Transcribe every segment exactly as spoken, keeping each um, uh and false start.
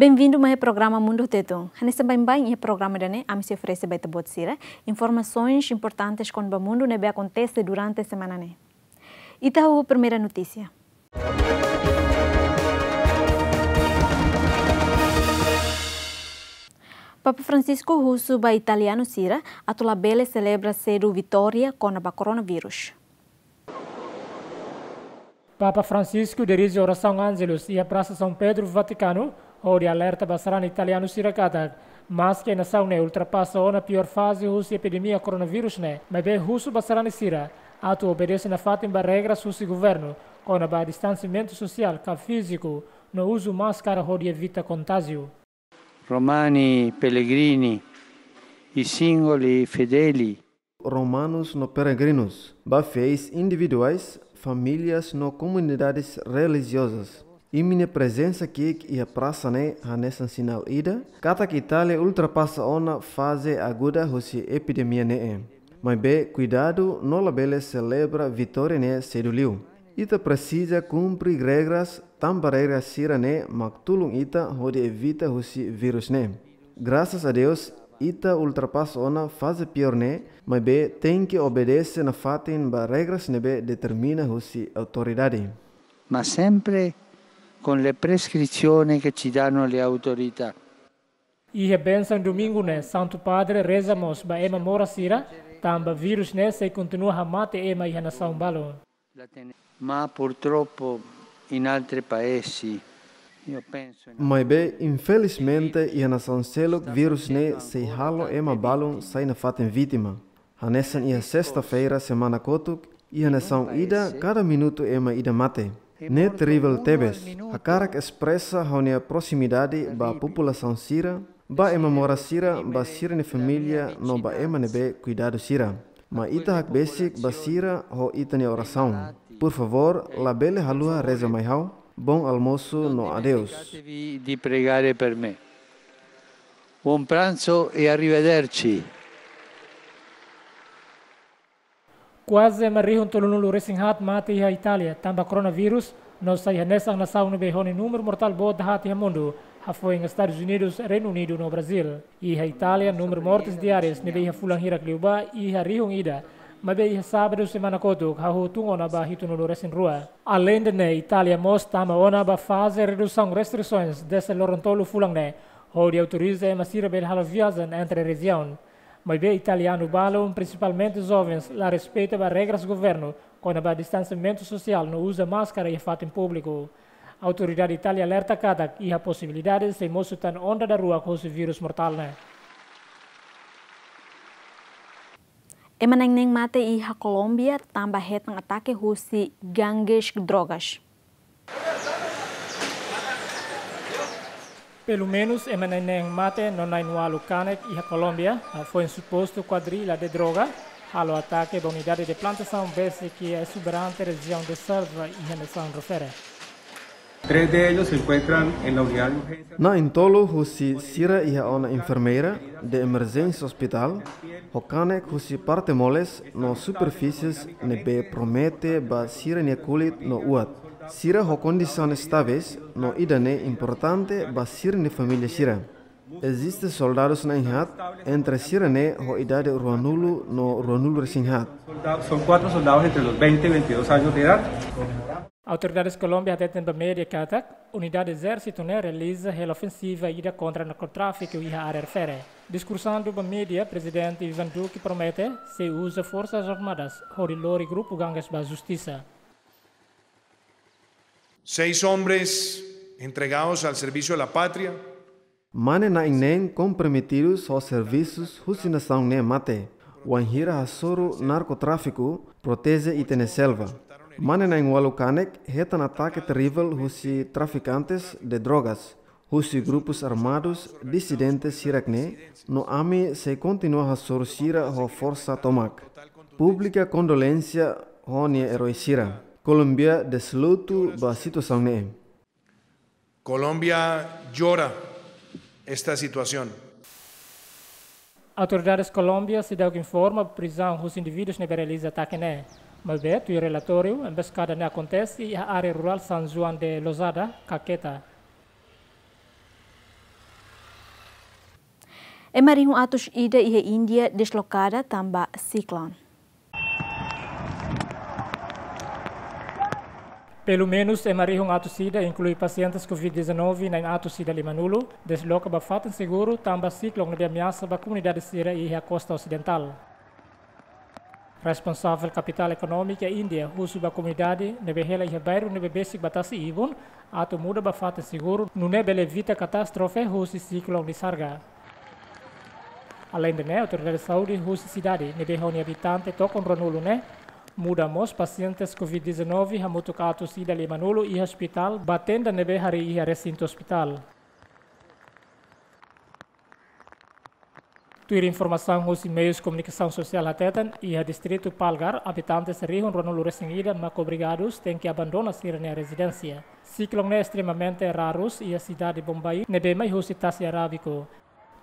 Benvindu mai iha programa Mundu Tetun. Hanesan baibain iha programa ida-ne'e, ami sei oferese ba ita-boot sira informasoens importantes kona-ba mundu ne'ebé akontese durante semana ne'e. Ita ho primeira notísia. Papa Francisco husu ba italianu sira atu labele selebra sedu vitória kona-ba koronavírus. Papa Francisco dirije orasaun Angelus iha Prasa São Pedro, Vatikanu, hodi alerta ba sarani italianu sira katak, maske nasaun ne'e ultrapasa ona piór faze husi epidemia koronavírus ne'e, maibé husu ba sarani sira atu obedese nafatin ba regras husi governu kona-ba distansiamentu sosiál ka fíziku no uzu máskara hodi evita kontájiu. Romani, pellegrini, i singoli fedeli. Romanus no peregrinus, ba fiéis individuais, famílias no komunidades relijiozas. Imi-nia prezensa ki'ik iha prasa ne'e hanesan sinál ida katak Itália ultrapasa ona faze aguda husi epidemia ne'e. Maibé kuidadu no labele selebra vitória ne'e sedu liu. Ita presiza kumpre regras, tanba regras sira-ne'e mak tulun ita hodi evita husi vírus ne'e. Grasas a Deus, ita ultrapasa ona faze piór ne'e, maibé tenke obedese nafatin ba regras ne'ebé determina husi autoridade. Ma sempre con le prescrizioni che ci danno le autorità. Iha bensaun domingu ne'e, Santu Padre reza mós ba ema moras sira, tanba vírus ne'e sei kontinua hamate ema iha nasaun balun. Ma purtroppo in altri paesi, io penso in... Maibé, infelizmente, iha nasaun seluk vírus ne'e sei halo ema balun sai nafatin vítima. Hanesan iha sesta-feira semana kotuk, iha nasaun ida kada minutu ema ida mate. Ne'e terivel tebes. Hakarak espresa ha'u-nia proximidade ba populasaun sira, ba ema moras sira, ba sira-nia família no ba ema ne'ebé kuidadu sira. Ma ita hakbesik ba sira ho ita-nia orasaun. Por favor, labele haluha reza mai ha'u. Bom almoço no adeus. Di pregare per me. Buon pranzo e arrivederci. Kuaze ema rihun tolunulu-resin-haat mate iha Itália tanba koronavírus, no sai hanesan nasaun ne'ebé ho nia númeru mortál boot haat iha mundu, hafoin Estadus Unidus, Reinu Unidu no Brazíl. Iha Itália, númeru mortes diárias ne'ebé iha fulan hirak liubá iha rihun ida, maibé iha sábadu semana kotuk hahú tun ona ba hitunulu-resin-rua. Aleinde ne'e, Itália mós tama ona ba faze redusaun restrisoens dezde loron tolu fulan ne'e, hodi autoriza ema sira bele halo viajen entre rejiaun. Maibé italianu balun, prinsipalmente jovens, la respeita ba regras governu kona-ba distansiamentu sosiál no uza máskara iha fatin públiku. Autoridade Itália alerta katak iha posibilidade sei mosu tan onda daruak husi vírus mortál ne'e. Ema na'in neen mate iha Kolómbia tanba hetan atake husi gangues drogas. Pelumenus ema na'in neen mate no na'in ualu kanek iha Kolómbia, hafoin supostu kuadrilla de droga halo atake ba unidade de plantasaun besik iha esuberante rejiaun de selva iha nasaun refere. Tres de ellos se encuentran en la unidad de urgencia. Na'in tolu husi sira iha ona enfermeira de emerjénsia hospitál, ho kanek husi parte moles no superfísies ne'ebé promete ba sira-nia kulit no uat. Sira ho kondisaun estáveis no ida-ne'e importante ba sira-nia família sira. Eziste soldadus na'in haat entre sira-ne'e ho idade ruanulu no ruanulu-resin-haat. Soldados, son cuatro soldados entre los veinte y veintidós años de edad. Autoridades Kolómbia hateten ba média katak unidade ezérsitu ne'e realiza hela ofensiva ida kontra narkotráfiku iha área refere. Diskursandu ba média, Prezidente Iván Duque promete sei uza forsas armadas hodi lori grupu gangues ba justisa. Seis hombres entregados al servicio de la patria. Mane na'in neen komprometidus ho servisus husi nasaun ne'e mate, wainhira hasoru narkotráfiku proteje ita-nia selva. Mane na'in ualu kanek hetan atake terivel husi trafikantes de drogas, husi grupus armadus disidentes hirak-ne'e, no ami sei kontinua hasoru sira ho forsa tomak. Publika kondolénsia ho nia erói sira. Kolómbia dezlutu ba situasaun ne'e. Colombia llora esta situación. Autoridades Kolómbia seidauk informa prizaun husi indivídus ne'ebé realiza atake ne'e. Maibé, tuir relatóriu, emboscada ne'e akontese iha área rurál San Juan de Lozada, Caquetá. Ema rihun atus ida iha Índia deslokada tanba siklone. Pelumenus ema rihun atus ida, inklui pasientes covid dezanove na'in atus ida limanulu, desloka ba fatin seguru tanba siklone ne'ebé ameasa ba komunidade sira iha kosta osidentál. Responsavel kapitál ekonómika Índia husu ba komunidade ne'ebé hela iha bairru ne'ebé besik ba tasi-ibun atu muda ba fatin seguru, nune'e bele evita katástrofe husi siklone Nisarga. Aleinde ne'e, autoridade saúde husi sidade ne'ebé ho nia abitante tokon ruanulu ne'e muda mós pasientes covid dezanove hamutuk atus ida limanulu iha ospitál ba tenda ne'ebé harii iha resintu ospitál. Tuir informasaun husi meius komunikasaun sosiál hateten, iha distritu Palghar, abitantes rihun ruanulu resin ida mak obrigadus tenke abandona sira-nia rezidénsia. Siklone ne'e estremamente rarus iha sidade Bombay, ne'ebé mai husi tasi Arábiku.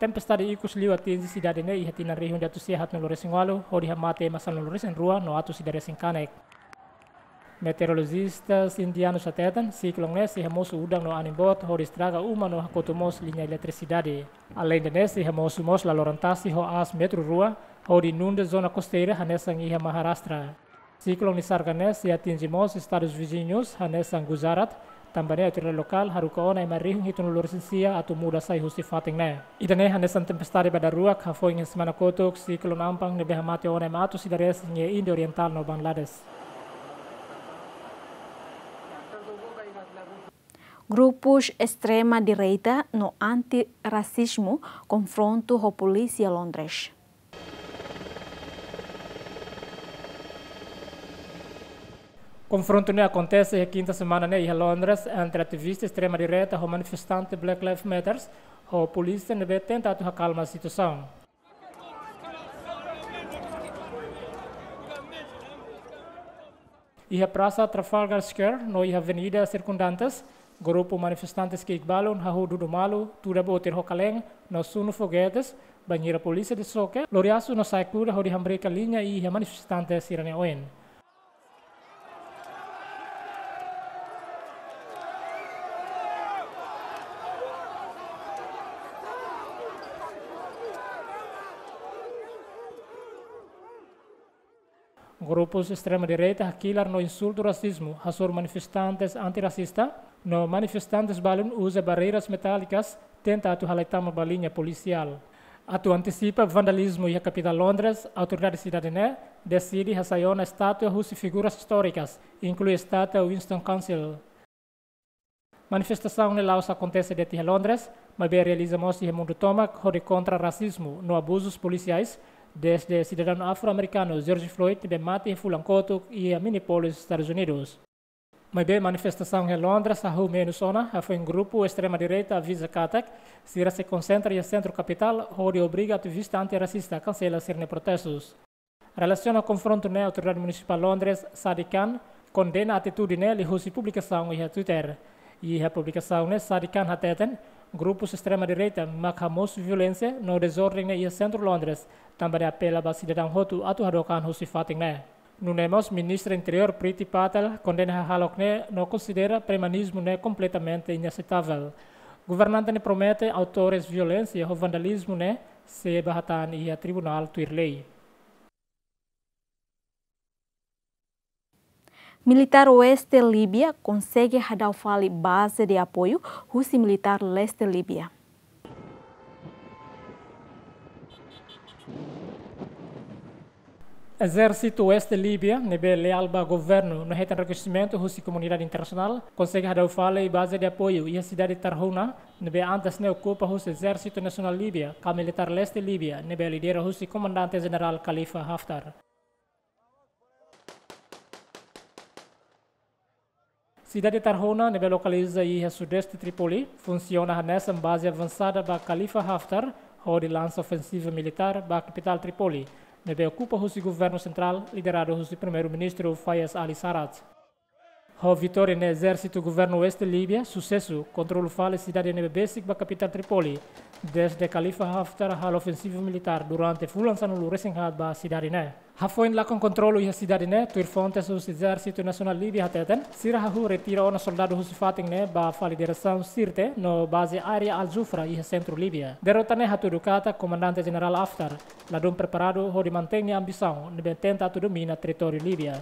Tempestade ikus liu atinje sidade ne'e iha tinan rihun ida atus sia haatnulu resin ualu, hodi hamate ema sanulu resin rua no atus ida resin kanek. Meteorolojista indianus hateten, siklone ne'e sei hamosu udan no anin boot, hodi estraga uma no hakotu mós liña eletrisidade. Aleinde ne'e, sei hamosu mós laloran tasi ho aas metru rua, hodi inunda zona kosteira hanesan iha Maharashtra. Siklone Nisarga ne'e sei atinje mós estadus viziñus, hanesan Gujarat, tanba ne'e autoridade lokál haruka ona ema rihun hitunulu resin sia atu muda sai husi fatin ne'e. Ida-ne'e hanesan tempestade ba daruak hafoin iha semana kotuk, siklone Ampang ne'ebé hamate ona ema atus ida resin iha Índia Orientál no Bangladesh. Grupus estrema-direita no anti-rasizmu konfrontu ho polísia Londres. Konfrontu ne'e akontese iha kinta semana ne'e iha Londres entre ativista estrema-direita ho manifestante Black Lives Matters ho polísia ne'ebé tenta atu akalma situasaun. Iha Prasa Trafalgar Square no iha avenida sirkundantes, grupu manifestantes ki'ik balun, hahú dudu malu, tuda botir ho kaleen, no sunu fogetes, bainhira polísia de soke, lori asu no sa'e kuda hodi hamriik liña iha manifestante sira-nia oin. Grupus estrema-direita hakilar no insultu rasizmu, hasoru manifestantes anti-rasista, no manifestantes balun uza barreiras metálikas, tenta atu halai tama ba liña polisiál. Atu antisipa vandalizmu iha kapitál Londres, autoridade sidade ne'e deside hasai ona estátua husi figuras istórikas, inklui estátua Winston Churchill. Manifestasaun ne'e la'ós akontese de'it iha Londres, maibé realiza mós iha mundu tomak hodi kontra rasizmu no abuzus polisiais, dezde sidadaun afro-amerikanu George Floyd ne'ebé mate iha fulan kotuk iha Minneapolis, Estadus Unidus. Maibé manifestasaun iha Londres hahú menus ona, hafoin grupu estrema-direita aviza katak sira sei konsentra iha sentru kapitál hodi obriga ativista anti-rasista kansela sira-nia protestus. Relasiona konfrontu ne'e, autoridade munisipál Londres, Sadiq Khan, kondena atitude ne'e liuhusi publikasaun iha Twitter. Iha publikasaun ne'e, Sadiq Khan hateten, grupus estrema-direita mak hamosu violénsia no dezorden ne'e iha sentru Londres, tanba ne'e apela ba sidadaun hotu atu hadook an husi fatin ne'e. Nune'e mós Ministra Interiór Priti Patel kondena hahalok ne'e no konsidera primazismu ne'e kompletamente inaseitavel. Governante ne'e promete autores violénsia ho vandalizmu ne'e sei ba hatán iha tribunál tuir lei. Militár oeste Líbia konsege hadau fali baze de apoiu husi militár leste Líbia. Ezérsitu oeste Líbia, ne'ebé leál ba governu no hetan rekoñesimentu husi komunidade internasionál, konsege hadau fali baze de apoiu iha sidade Tarhouna, ne'ebé antes ne'e okupa husi Ezérsitu Nasionál Líbia, ka militár leste Líbia, ne'ebé lidera husi Komandante Jenerál Khalifa Haftar. Sidade Tarhouna, ne'ebé lokaliza iha sudeste Trípoli, funsiona hanesan baze avansada ba Khalifa Haftar, hodi lansa ofensiva militár ba kapitál Trípoli, ne'ebé okupa husi governu sentrál, lideradu husi Primeiru-Ministru Fayez Ali Sarraj. Ho vitória ne'e, ezérsitu governu oeste Líbia susesu kontrola fali sidade ne'ebé besik ba kapitál Trípoli, desde Khalifa Haftar halo ofensiva militár durante fulan sanulu-resin-haat ba sidade ne'e. Hafoin lakon kontrola iha sidade ne'e, tuir fontes husi Ezérsitu Nasionál Líbia hateten, sira hahú retira ona soldadu husi fatin ne'e ba fali diresaun Sirte no baze área Al-Jufra iha sentru Líbia. Derrota ne'e hatudu katak Komandante Jenerál Haftar ladún preparadu hodi mantein nia ambisaun ne'ebé tenta atu domina territóriu Líbia.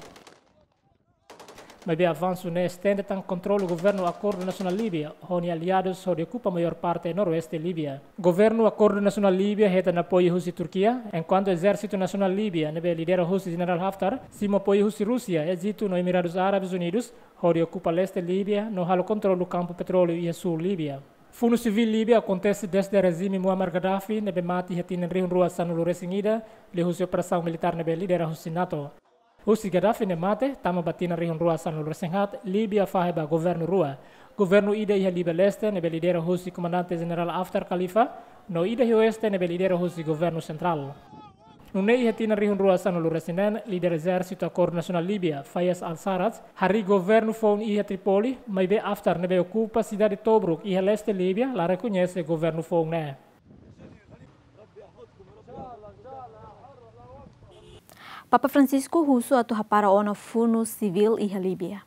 Maibé avansu ne'e estende tan kontrola governu Akordu Nasionál Líbia ho nia aliadus hodi okupa maiór parte noroeste Líbia. Governu Akordu Nasionál Líbia hetan apoiu husi Turkia, enkuantu Ezérsitu Nasionál Líbia ne'ebé lidera husi Jenerál Haftar simu apoiu husi Rúsia, Ejitu no Emiradus Árabes Unidus hodi okupa leste Líbia no halo kontrola kampu petróleu iha súl Líbia. Funu sivíl Líbia akontese desde rejime Muammar Gaddafi ne'ebé mate iha tinan rihun rua sanulu-resin-ida, liuhusi operasaun militár ne'ebé lidera husi NATO. Husi Gaddafi ne'e mate, tama ba tinan rihun rua sanulu-resin-haat, Líbia fahe ba governu rua. Governu ida iha Líbia leste ne'ebé lidera husi Komandante Jenerál Haftar Khalifa, no ida iha oeste ne'ebé lidera husi governu sentrál. Nune'e iha tinan rihun rua sanulu-resin-neen, líder Ezérsitu Akordu Nasionál Líbia, Fayez al-Sarraj, harii governu foun iha Trípoli, maibé Haftar ne'ebé okupa sidade Tobruk iha leste Líbia la rekoñese governu foun ne'e. Papa Francisco husu atu hapara ona funu sivíl iha Líbia.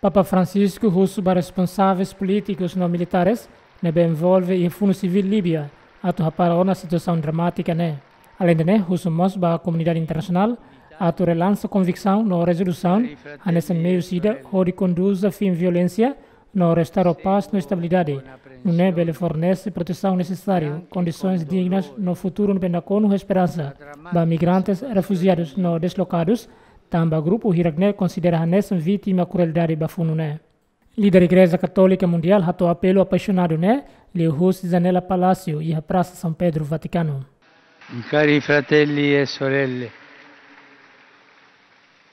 Papa Francisco husu ba responsáveis polítikus no militares ne'ebé envolve iha funu sivíl Líbia atu hapara ona situasaun dramátika ne'e. Aleinde ne'e, husu mós ba komunidade internasionál atu relansa konviksaun no rezolusaun hanesan meius ida hodi konduza fin violénsia no restaura pás no estabilidade, nune'e bele fornese protesaun nesesáriu, kondisoens dignas no futuru ne'ebé nakonu ho esperansa ba migrantes, refujiadus no deslokadus, tanba grupu hirak ne'e konsidera hanesan vítima krueldade ba funu ne'e. Líder Igreja Katólika Mundiál hato'o apelu apaixonadu ne'e liuhusi janela Palásiu iha Prasa São Pedro, Vatikanu. Cari fratelli e sorelle,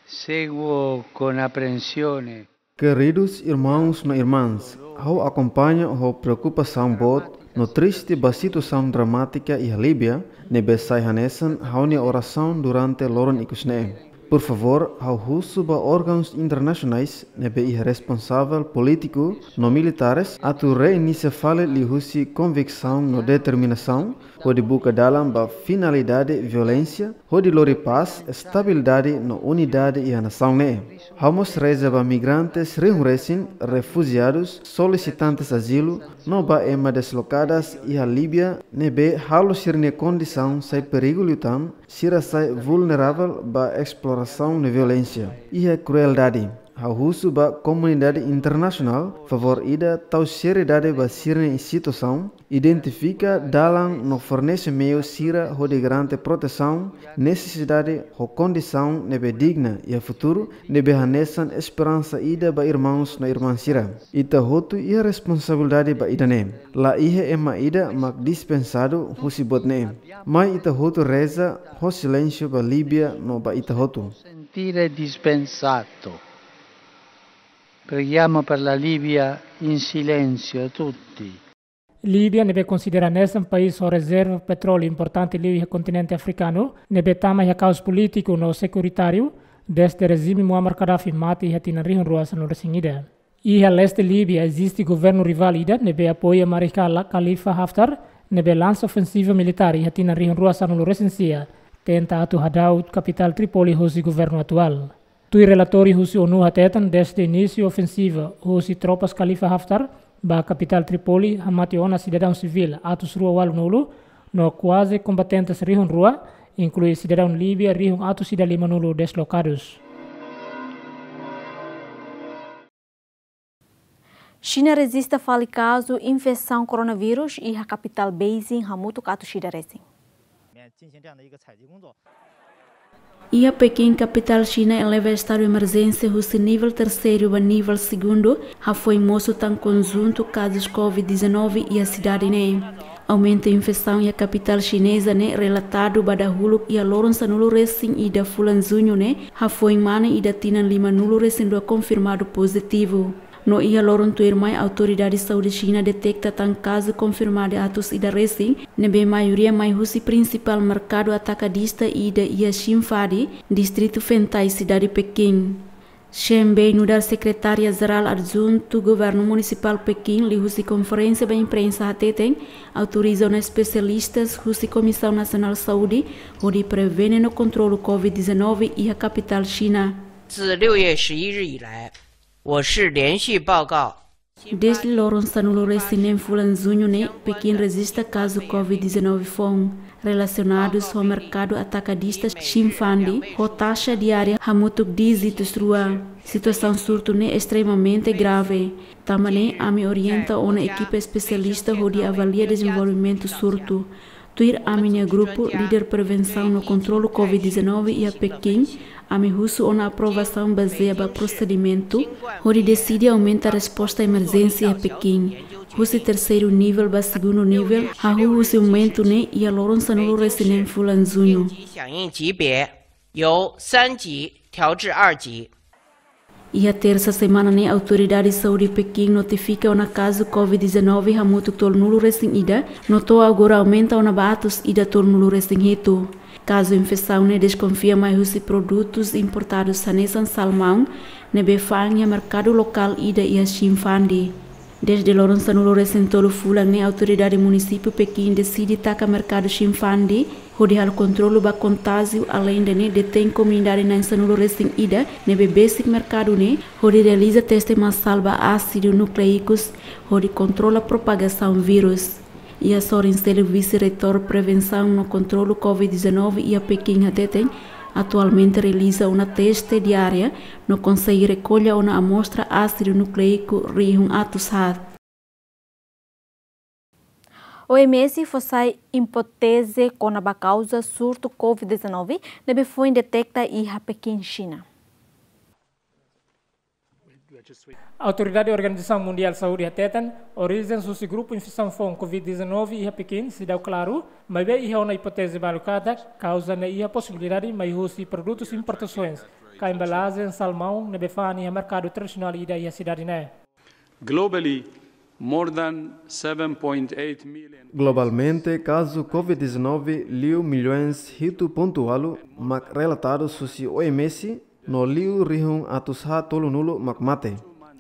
seguo con apprensione. Queridos irmãos no irmãs, ha'u akompaña ho preokupasaun boot no triste ba situasaun dramátika iha Líbia, ne'ebé sai hanesan ha'u-nia orasaun durante loron ikus ne'e. Por favór, ha'u husu ba órgauns internasionais ne'ebé iha responsavel polítiku no militares atu reinicia fali liuhusi konviksaun no determinasaun hodi buka dalan ba finalidade violénsia, hodi lori pás, estabilidade no unidade iha nasaun ne'e. Ha'u mós reza ba migrantes rihun resin, refujiadus, solisitantes azilu, no ba ema deslokadas iha Líbia ne'ebé halo sira-nia kondisaun sai perigu liután, sira sai vulneravel ba esplorasaun no violénsia iha krueldade. Ha'u husu ba komunidade internasionál, favór ida tau seriedade ba sira-nia situasaun, identifika dalan no fornese meius sira hodi garante protesaun, nesesidade ho kondisaun ne'ebé digna iha futuru ne'ebé hanesan esperansa ida ba irmãos no irmãs sira. Ita hotu iha responsabilidade ba ida-ne'e. La iha ema ida mak dispensadu husi buat ne'e. Mai ita hotu reza ho silénsiu ba Líbia no ba ita hotu. Sentire dispensato. Preghiamo per la Libia in silenzio tutti. Líbia ne'ebé konsidera hanesan país ho rezerva petróleu importante liu iha kontinente afrikanu, ne'ebé tama iha kaos polítiku no sekuritáriu, desde rejime Muammar Gaddafi mate iha tinan rihun rua sanulu-resin-ida. Iha leste Líbia eziste governu rivál ida ne'ebé apoia mariscal Khalifa Haftar, ne'ebé lansa ofensiva militár iha tinan rihun rua sanulu-resin-sia, tenta atu hadau kapitál Trípoli husi governu atuál. Tuir relatóriu husi ONU hateten, desde inísiu ofensiva husi tropas Khalifa Haftar ba kapitál Trípoli, hamate ona sidadaun sivíl atus rua ualunulu, no kuaze kombatentes rihun rua, inklui sidadaun Líbia rihun atus ida limanulu deslokadus. Xina rejista fali kazu infesaun koronavírus iha kapitál Beijing hamutuk atus ida resin. Iha Pekin, kapitál Xina eleva estadu emerjénsia husi nivel terseiru ba nivel segundu, hafoin mosu tan konjuntu kazus covid dezanove iha sidade ne'e. Aumenta infesaun iha kapitál xineza ne'e relatadu ba dahuluk iha loron sanulu resin ida fulan juñu ne'e, hafoin mane ida tinan limanulu resin dua konfirmadu pozitivu. No iha loron tuirmai, autoridade saúde Xina deteta tan kazu konfirmadu atus ida resin, ne'ebé maioria mai husi prinsipál merkadu atakadista ida iha Xinfadi, distritu Fengtai, sidade Pekin. Shen Bei, nu'udar sekretária jerál adjuntu Governu Munisipál Pekin, liuhusi konferénsia ba imprensa hateten, autoriza ona espesialistas husi Komisaun Nasionál Saúde hodi prevene no kontrolu covid dezanove iha kapitál Xina. 自六月十一日以来，我市连续报告 Dezde loron sanulu resin neen fulan Juñu ne'e, Pekin rejista kazu covid dezanove foun relasionadus ho merkadu atakadista Xinfandi, ho taxa diária hamutuk díjitus rua. Situasaun surtu ne'e estremamente grave. Tanba ne'e, ami orienta ona ekipa espesialista hodi avalia dezenvolvimentu surtu. Tuir ami-nia grupu líder prevensaun no kontrolu covid dezanove iha Pekin, ami husu ona aprovasaun bazeia ba prosedimentu hodi deside aumenta resposta emerjénsia iha Pekin, husi terseiru nivel ba segundu nivel, hahú husi momentu ne'e iha loron sanulu resin neen fulan Juñu. 响应级别由三级调至二级。 Iha tersa semana ne'e, autoridade saúde Pekin notifika ona kazu covid dezanove hamutuk tolunulu resin ida, no to'o agora aumenta ona ba atus ida tolunulu resin hitu. Kazu infesaun ne'e deskonfia mai husi produtus importadus hanesan salmaun, ne'ebé fa'an iha merkadu lokál ida iha Xinfandi. Dezde loron sanulu resin tolu fulan ne'e, autoridade munisípiu Pekin deside taka merkadu Xinfandi hodi halo kontrolu ba kontájiu, aleinde ne'e detein komunidade na'in sanulu resin ida ne'ebé besik merkadu ne'e hodi realiza teste masál ba ásidu nukleikus hodi kontrola propagasaun vírus. Iha sorin seluk, vise-reitór prevensaun no kontrolu covid dezanove iha Pekin hateten, atualmente realiza ona teste diária no konsege rekolla ona amostra ásidu nukleiku rihun atus haat. O M S fó sai ipóteze kona-ba kauza surtu covid dezanove ne'ebé foin deteta iha Pekin, Xina. Autoridade Organizasaun Mundiál Saúde hateten, orijen husi grupu infesaun foun covid dezanove iha Pekin seidauk klaru, maibé iha ona ipóteze balu katak kauza ne'e iha posibilidade mai husi produtus importasoens ka embalajen salmaun ne'ebé fa'an iha merkadu tradisionál ida iha sidade ne'e. Globally, more than seven point eight million. Globalmente, kazu covid dezanove liu milhões hitu pontu ualu mak relatadu husi O M S, no liu rihun atus haat tolunulu mak mate.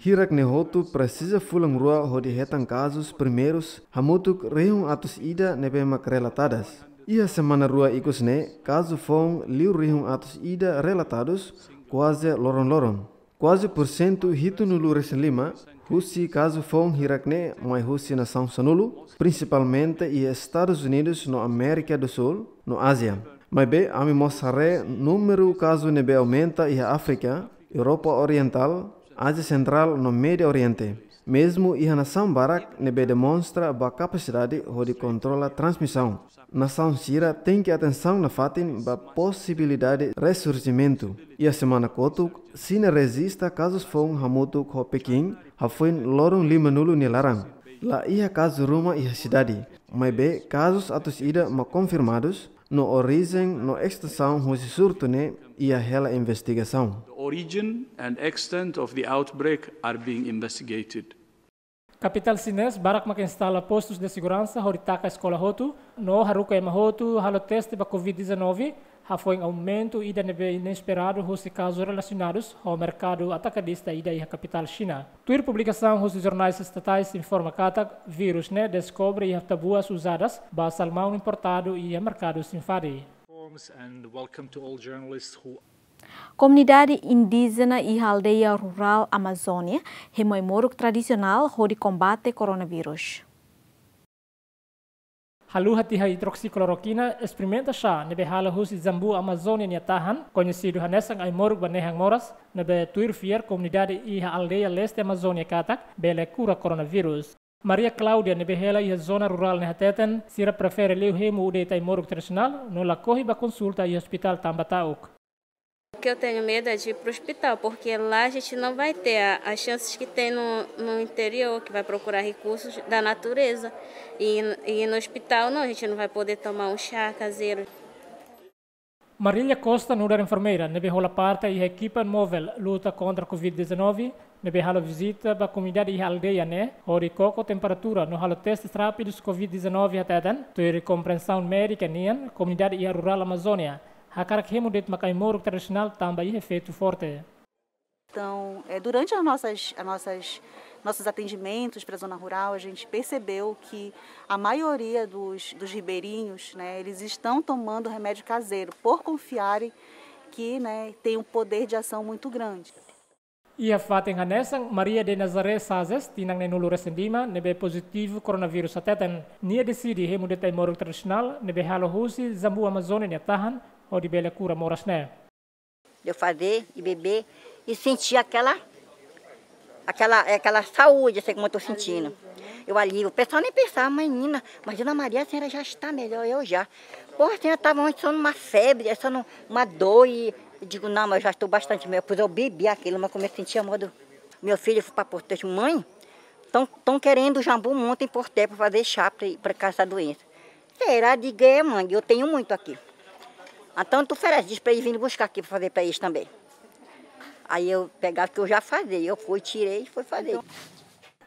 Hirak ne'e hotu presiza fulan rua hodi hetan kazus primeirus hamutuk rihun atus ida ne'ebé mak relatadas. Iha semana rua ikus ne'e, kazu foun liu rihun atus ida relatadus kuaze loron-loron. Kuaze pursentu hitunulu resin lima husi kazu foun hirak ne'e mai husi nasaun sanulu, prinsipalmente iha Estadus Unidus no Amérika do Sul no Ázia. Maibé, ami mós haree númeru kazu ne'ebé aumenta iha Áfrika, Europa Orientál, Ázia Sentrál no Médiu Oriente. Mezmu iha nasaun barak ne'ebé demonstra ba kapasidade hodi kontrola transmisaun. Nasaun sira tenke atensaun nafatin ba posibilidade resurjimentu. Iha semana kotuk, Xina rejista kazus foun hamutuk ho Pekin, hafoin loron limanulu nia laran. La iha kazu ruma iha sidade, maibé kazus atus ida mak konfirmadus, no orijen no estensaun husi surtu ne'e iha hela investigasaun. The origin and extent of the outbreak are being investigated. Kapitál xinés barak mak instala postus de seguransa hodi taka eskola hotu, no haruka ema hotu halo teste ba covid dezanove, hafoin aumentu ida ne'ebé inesperadu husi kazu relasionadus ho merkadu atakadista ida iha kapitál Xina. Tuir publikasaun husi jornais estatais informa katak vírus ne'e deskobre iha tabuas uzadas ba salmaun importadu iha merkadu Xinfadi. Forms and welcome to all journalists who Komunidade indíjena iha aldeia rurál Amazónia hemu ai-moruk tradisionál hodi kombate koronavírus. Haluha tiha idroksiklorokina, esperimenta xá ne'ebé halo husi jambu Amazónia nia tahan, koñesidu hanesan ai-moruk ba nehan moras, ne'ebé tuir fiar komunidade iha aldeia leste Amazónia katak bele kura koronavírus. Maria Cláudia ne'ebé hela iha zona rurál ne'e hateten, sira prefere liu hemu ou deita ai-moruk tradisionál, no lakohi ba konsulta iha ospitál tanba ta'uk. O que eu tenho medo é de ir pro hospital, porque lá a gente não vai ter a, as chances que tem no, no interior, que vai procurar recursos da natureza. E, e no hospital, não, a gente não vai poder tomar um chá caseiro. Marília Costa nu'udar enfermeira ne'ebé hola parte iha ekipa móvel luta kontra covid dezanove, Ne'ebé halo vizita ba komunidade iha aldeia ne'e, hodi koko temperatura no halo testes rápidus covid dezanove hateten, tuir komprensaun médika nian, komunidade iha rurál Amazónia hakarak hemu de'it mak ai-moruk tradisionál tanba iha efeitu forte. Então, é, durante as nossas, as nossas, nossos atendimentos para a zona rural, a gente percebeu que a maioria dos, dos ribeirinhos, né, eles estão tomando remédio caseiro por confiarem que, né, tem um poder de ação muito grande. Iha fatin hanesan, Maria de Nazaré Sazes, tinan neenulu resin lima, ne'ebé pozitivu koronavírus hateten, nia deside hemu de'it ai-moruk tradisionál ne'ebé halo husi jambu Amazónia nia tahan, hodi bele kura moras ne'e. De eu fazer e beber e sentir aquela, aquela, aquela saúde, assim como eu estou sentindo. Eu alívio. O pessoal nem pensava, menina, mas Dona Maria, a senhora já está melhor, eu já. Porra, a senhora estava antes só numa febre, só numa dor e eu digo, não, mas eu já estou bastante melhor. Depois eu bebi aquilo, mas comecei a sentir a mão do meu filho, fui para Porto, mãe, estão querendo jambu muito em Porté para fazer chá para essa doença. Será? Digo, é, mãe, eu tenho muito aqui. Então tu oferece, diz para eles virem buscar aqui para fazer para eles também. Aí eu pegava que eu já fazia, eu fui, tirei e fui fazer.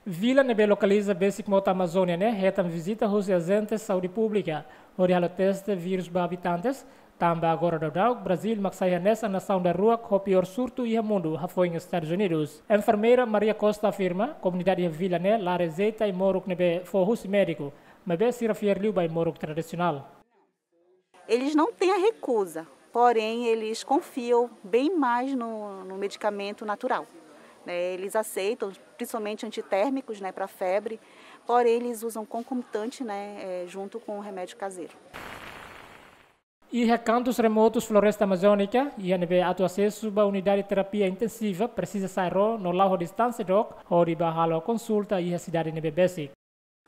Vila ne'ebé lokaliza besik mota Amazónia ne'e hetan vizita husi ajente saúde públika hodi halo teste vírus ba abitantes, tanba agora daudaun Brazíl mak sai hanesan nasaun daruak ho piór surtu iha mundu, hafoin Estadus Unidus. Enfermeira Maria Costa afirma, komunidade iha vila ne'e la rejeita ai-moruk ne'ebé fó husi médiku, maibé sira fiar liu ba ai-moruk tradisionál. Eles não têm a recusa, porém eles confiam bem mais no, no medicamento natural. Né? Eles aceitam, principalmente antitérmicos, né, para febre, porém eles usam concomitante, né, é, junto com o remédio caseiro. Iha kantus remotus floresta amazónika, iha ne'ebé atu asesu ba unidade terapia intensiva presiza sa'e ró no la'o ho distánsia dook hodi bá halo konsulta iha sidade ne'ebé besik.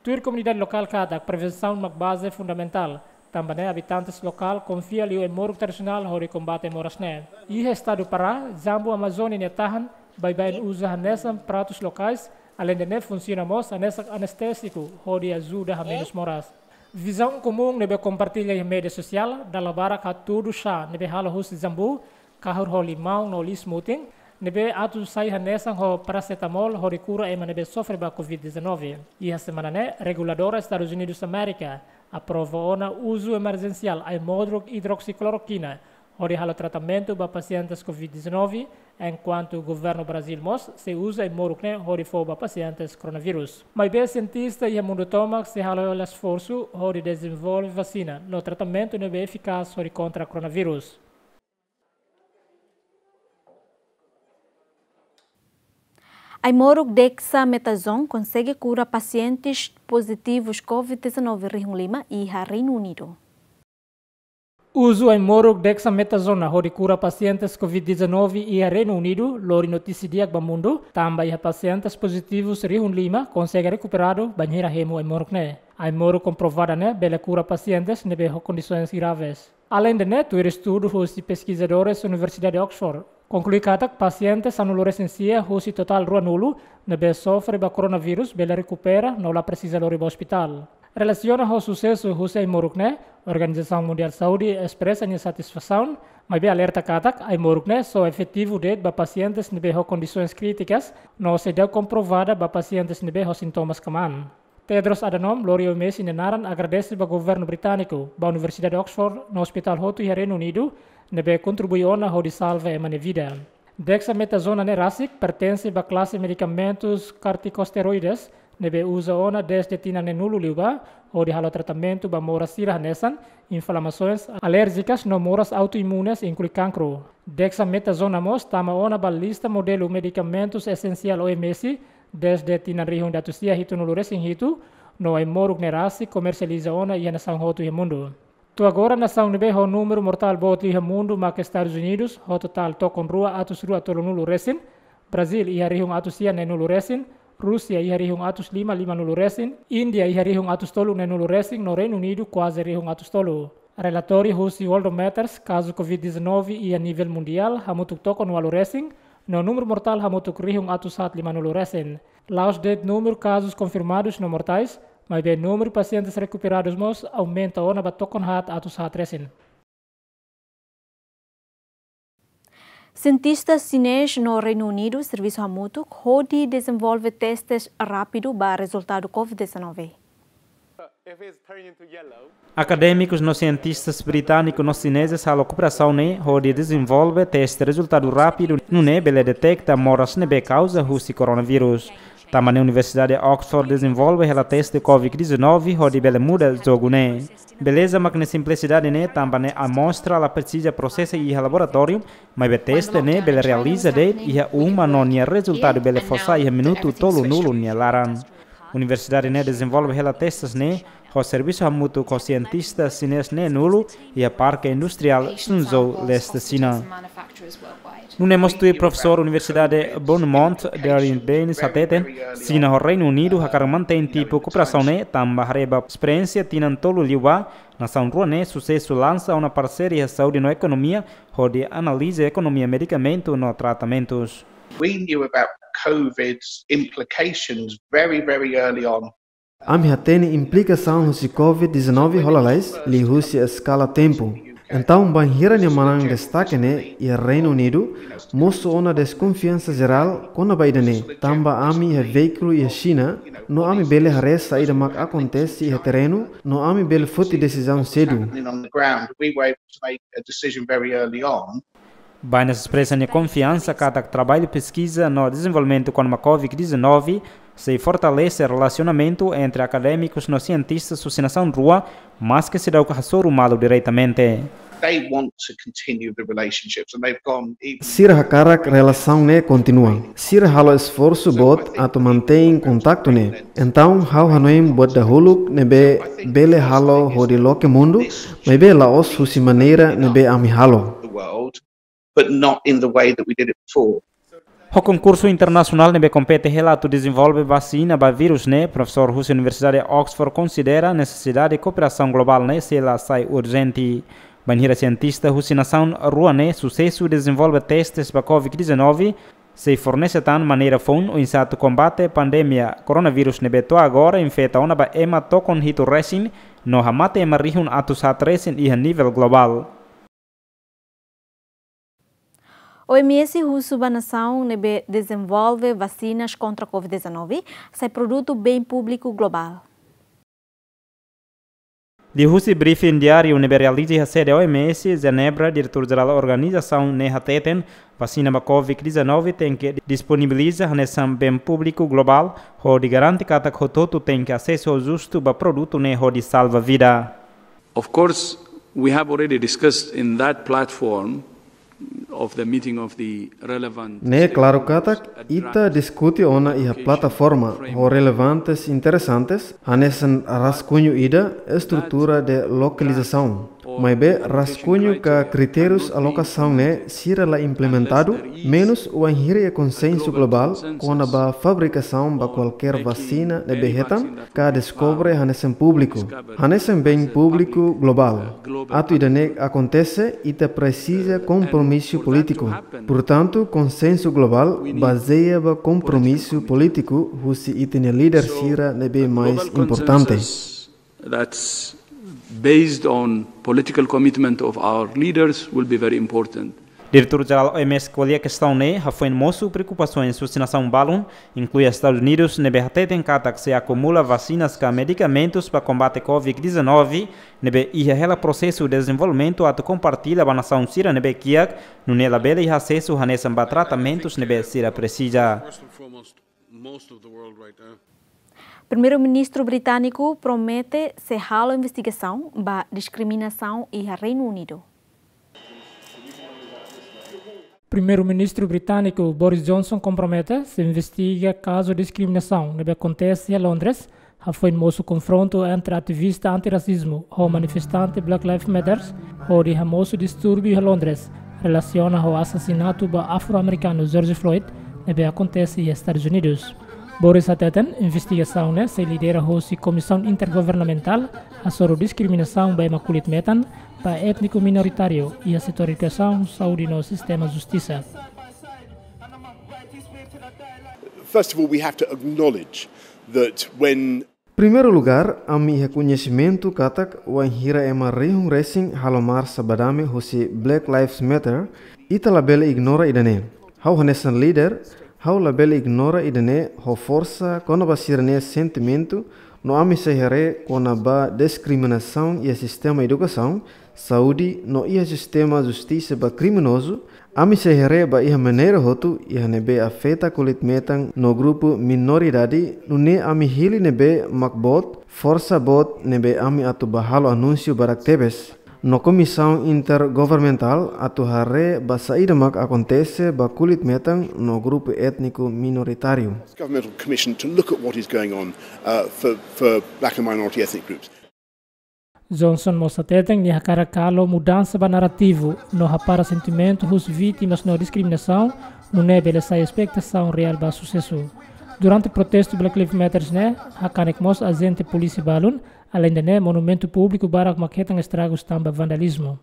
Tuir komunidade lokál katak prevensaun mak baze fundamentál, tanba ne'e abitantes lokál konfia liu ai-moruk tradisionál hodi kombate moras ne'e. Iha estadu Pará, jambu Amazónia nia tahan baibain uza hanesan pratus lokais, aleinde ne'e funsiona mós hanesan anestésiku hodi ajuda hamenus moras. Vizaun komún ne'ebé kompartilla iha média sosiál, dala barak hatudu xá ne'ebé halo husi jambu, kahur ho limaun no liis-mutin, ne'ebé atu sai hanesan ho parasetamol hodi kura ema ne'ebé sofre ba covid dezanove. Iha semana ne'e, reguladora Estadus Unidus Amérika aprova ona uzu emerjensiál ai-moruk idroksiklorokina hodi halo tratamentu ba pasientes covid dezanove, enkuantu governu Brazíl mós sei uza ai-moruk ne'e hodi fó ba pasientes koronavírus. Maibé sientista iha mundu tomak sei halo hela esforsu hodi dezenvolve vasina no tratamentu ne'ebé efikás hodi kontra koronavírus. Ai-moruk dexamethasone konsege kura pasientes pozitivus covid dezanove rihun lima iha Reinu Unidu. Uzu ai-moruk dexamethasone hodi kura pasientes covid dezanove iha Reinu Unidu lori notísia di'ak ba mundu, tanba iha pasientes pozitivus rihun lima konsege rekuperadu bainhira hemu ai-moruk ne'e. Ai-moruk komprovada ne'e bele kura pasientes ne'ebé ho kondisoens graves. Aleinde ne'e, tuir estudu husi peskizadores Universidade Oxford, konklui katak pasiente sanulu resin sia husi totál ruanulu ne'ebé sofre ba koronavírus bele rekupera no la presiza lori ba ospitál. Relasiona ho susesu husi ai-moruk ne'e, Organizasaun Mundiál Saúde espresa nia satisfasaun, maibé alerta katak ai-moruk ne'e só efetivu de'it ba pasientes ne'ebé ho kondisoens krítikas no seidauk komprovada ba pasientes ne'ebé ho sintomas kmaan. Tedros Adhanom lori O M S nia naran agradese ba governu britániku, ba Universidade Oxford no ospitál hotu iha Reinu Unidu ne'ebé kontribui ona hodi salva ema nia vida. Dexamethasone ne'e rasik pertense ba klase medikamentus kortikosteroides ne'ebé uza ona dezde tinan neenulu liubá hodi halo tratamentu ba moras sira hanesan inflamasoens alérjikas no moras autoimunes, inklui kankru. Dexamethasone mós tama ona ba lista modelu medikamentus esensiál O M S dezde tinan rihun ida atus sia hitunulu resin hitu, no ai-moruk ne'e rasik komersializa ona iha nasaun hotu iha mundu. To'o agora nasaun ne'ebé ho númeru mortál boot liu iha mundu mak Estadus Unidus, ho totál tokon rua atus rua tolunulu resin, Brazíl iha rihun atus sia neenulu resin, Rúsia iha rihun atus lima limanulu resin, Índia iha rihun atus tolu neenulu resin, no Reinu Unidu kuaze rihun atus tolu. Relatóriu husi Worldometers, kazu covid dezanove iha nivel mundiál hamutuk tokon ualu resin, no númeru mortál hamutuk rihun atus haat limanulu resin. La'ós de'it númeru kazus konfirmadus no mortais, maibé númeru pasientes rekuperadus mós aumenta ona ba tokon haat atus haat resin. Sientista xinés no Reinu Unidu servisu hamutuk hodi dezenvolve testes rápidu ba rezultadu COVID dezanove. Akadémikus no sientistas britániku no xinezes halo kooperasaun ne'e hodi dezenvolve teste rezultadu rápidu nune'e bele deteta moras ne'ebé kauza husi koronavírus. Tanba ne'e Universidade Oxford dezenvolve hela teste COVID dezanove hodi bele muda jogu ne'e. Beleza mak ne'e simplisidade ne'e tanba ne'e amostra la presiza prosesa iha laboratóriu, maibé teste ne'e bele realiza de'it iha uma no nia rezultadu bele fó sai iha minutu tolunulu nia laran. Universidade ne'e dezenvolve hela testes ne'e ho servisu hamutuk ho sientista xinés neenulu iha Parke Industriál Suzhou, leste Xina. Nune'e mós tuir profesór Universidade Beaumont, Darren Baines hateten, Xina ho Reinu Unidu hakarak mantein tipu kooperasaun ne'e tanba haree ba esperiénsia tinan tolu liubá, nasaun rua ne'e susesu lansa ona parseria saúde no ekonomia, hodi analiza ekonomia medikamentu no tratamentus. We knew about COVID's implications very, very early on. Ami hatene implikasaun husi COVID dezanove hola lalais liuhusi eskala tempu. Entaun, bainhira nia manán destaka ne'e iha Reinu Unidu, mosu ona deskonfiansa jerál kona-ba ida-ne'e, tanba ami iha veíkulu iha Xina, no ami bele haree saida mak akontese iha terrenu, no ami bele foti desizaun sedu. Happening on the ground, we were able to make a decision very early on. Baines espresa nia konfiansa katak traballu peskiza no dezenvolvimentu kona-ba COVID dezanove sei fortalese relasionamentu entre akadémikus no sientistas husi nasaun rua, maske seidauk hasoru malu diretamente. They want to continue the relationships and they've gone even Sira hakarak relasaun ne'e kontinua. Sira halo esforsu boot atu mantein kontaktu ne'e. Entaun, ha'u hanoin buat dahuluk ne'ebé bele halo hodi loke mundu, maibé la'ós husi maneira ne'ebé ami halo. The world, but not in the way that we did it before. Ho konkursu internasionál ne'ebé kompete hela atu dezenvolve vasina ba vírus ne'e, profesór husi Universidade Oxford konsidera nesesidade kooperasaun globál ne'e sei la sai urjente. Bainhira sientista husi nasaun rua ne'e susesu dezenvolve testes ba COVID dezanove, sei fornese tan maneira foun oinsá atu kombate pandemia koronavírus ne'ebé to'o agora infeta ona ba ema tokon hitu resin, no hamate ema rihun atus haat resin iha nivel globál. O M S husu ba nasaun ne'ebé dezenvolve vasinas kontra COVID dezanove sai produtu bem públiku globál. Liuhusi briefing diáriu ne'ebé realiza iha sede O M S, Jenebra, diretór jerál organizasaun ne'e hateten, vasina ba COVID dezanove tenke disponibiliza hanesan bem públiku globál, hodi garante katak hotu-hotu tenke asesu justu ba produtu ne'e hodi salva vida. Of course, we have already discussed in that platform of the meeting of the relevant Ne'e klaru katak ita diskute ona iha plataforma ho relevantes interesantes, hanesan raskunhu ida estrutura de lokalizasaun. Maibé raskunhu ka kritérius alokasaun ne'e sira la implementadu, menus wainhira iha konsensu globál kona-ba fabrikasaun ba kualkér vasina ne'ebé hetan ka deskobre hanesan públiku, hanesan bem públiku globál. Atu ida-ne'e akontese, ita presiza kompromisu polítiku. Portantu, konsensu globál bazeia ba kompromisu polítiku husi ita-nia líder sira ne'ebé mais importante. That's based on political commitment of our leaders will be very important. Diretór jerál O M S ko'alia kestaun ne'e, hafoin mosu preokupasaun husi nasaun balun, inklui Estadus Unidus, ne'ebé hateten katak sei akumula vasinas ka medikamentus ba kombate COVID dezanove, ne'ebé iha hela prosesu dezenvolvimentu atu kompartilla ba nasaun sira ne'ebé kiak, nune'e labele iha asesu hanesan ba tratamentus ne'ebé sira presiza. Primeiru-Ministru britániku promete sei halo investigasaun ba diskriminasaun iha Reinu Unidu. Primeiru-Ministru britániku Boris Johnson kompromete sei investiga kazu diskriminasaun ne'ebé akontese iha Londres, hafoin mosu konfrontu entre ativista antirasizmu ho manifestante Black Lives Matter, hodi hamosu distúrbiu iha Londres, relasiona ho asasinatu ba afro-amerikanu George Floyd, ne'ebé akontese iha Estadus Unidus. Boris hateten, investigasaun ne'e sei lidera hosi Komisaun Intergovernamentál hasoru diskriminasaun ba ema kulit metan, ba étniku minoritáriu, iha setór edukasaun, saúde no sistema justisa. First of all, we have to acknowledge that when Primeiru lugar, ami iha koñesimentu katak wainhira ema rihun resin halo marsa ba dame husi Black Lives Matter, Ita labele ignora ida-ne'e. Ha'u hanesan líder, ha'u labele ignora ida-ne'e ho forsa kona-ba sira-nia sentimentu, no ami sei haree kona-ba diskriminasaun iha sistema edukasaun, saúde, no iha sistema justisa ba kriminozu, ami sei haree ba iha maneira hotu iha ne'ebé afeta kulit metan no grupu minoridade, nune'e ami hili ne'ebé mak boot, forsa boot ne'ebé ami atu bá halo anúnsiu barak tebes. No komisaun intergovernamentál atu haree ba saida mak akontese ba kulit metan no grupu étniku minoritáriu. Governmental commission to look at what is going on, uh, for, for black and minority ethnic groups. Johnson mós hateten nia hakarak halo mudansa ba narrativu no hapara sentimentu husi vítimas no diskriminasaun, nune'e bele sai espetasaun reál ba susesu. Durante protestu Black Lives Matters ne'e, hakanek mós ajente polísia balun, aleinde ne'e monumentu públiku barak mak hetan estragus tanba vandalizmu.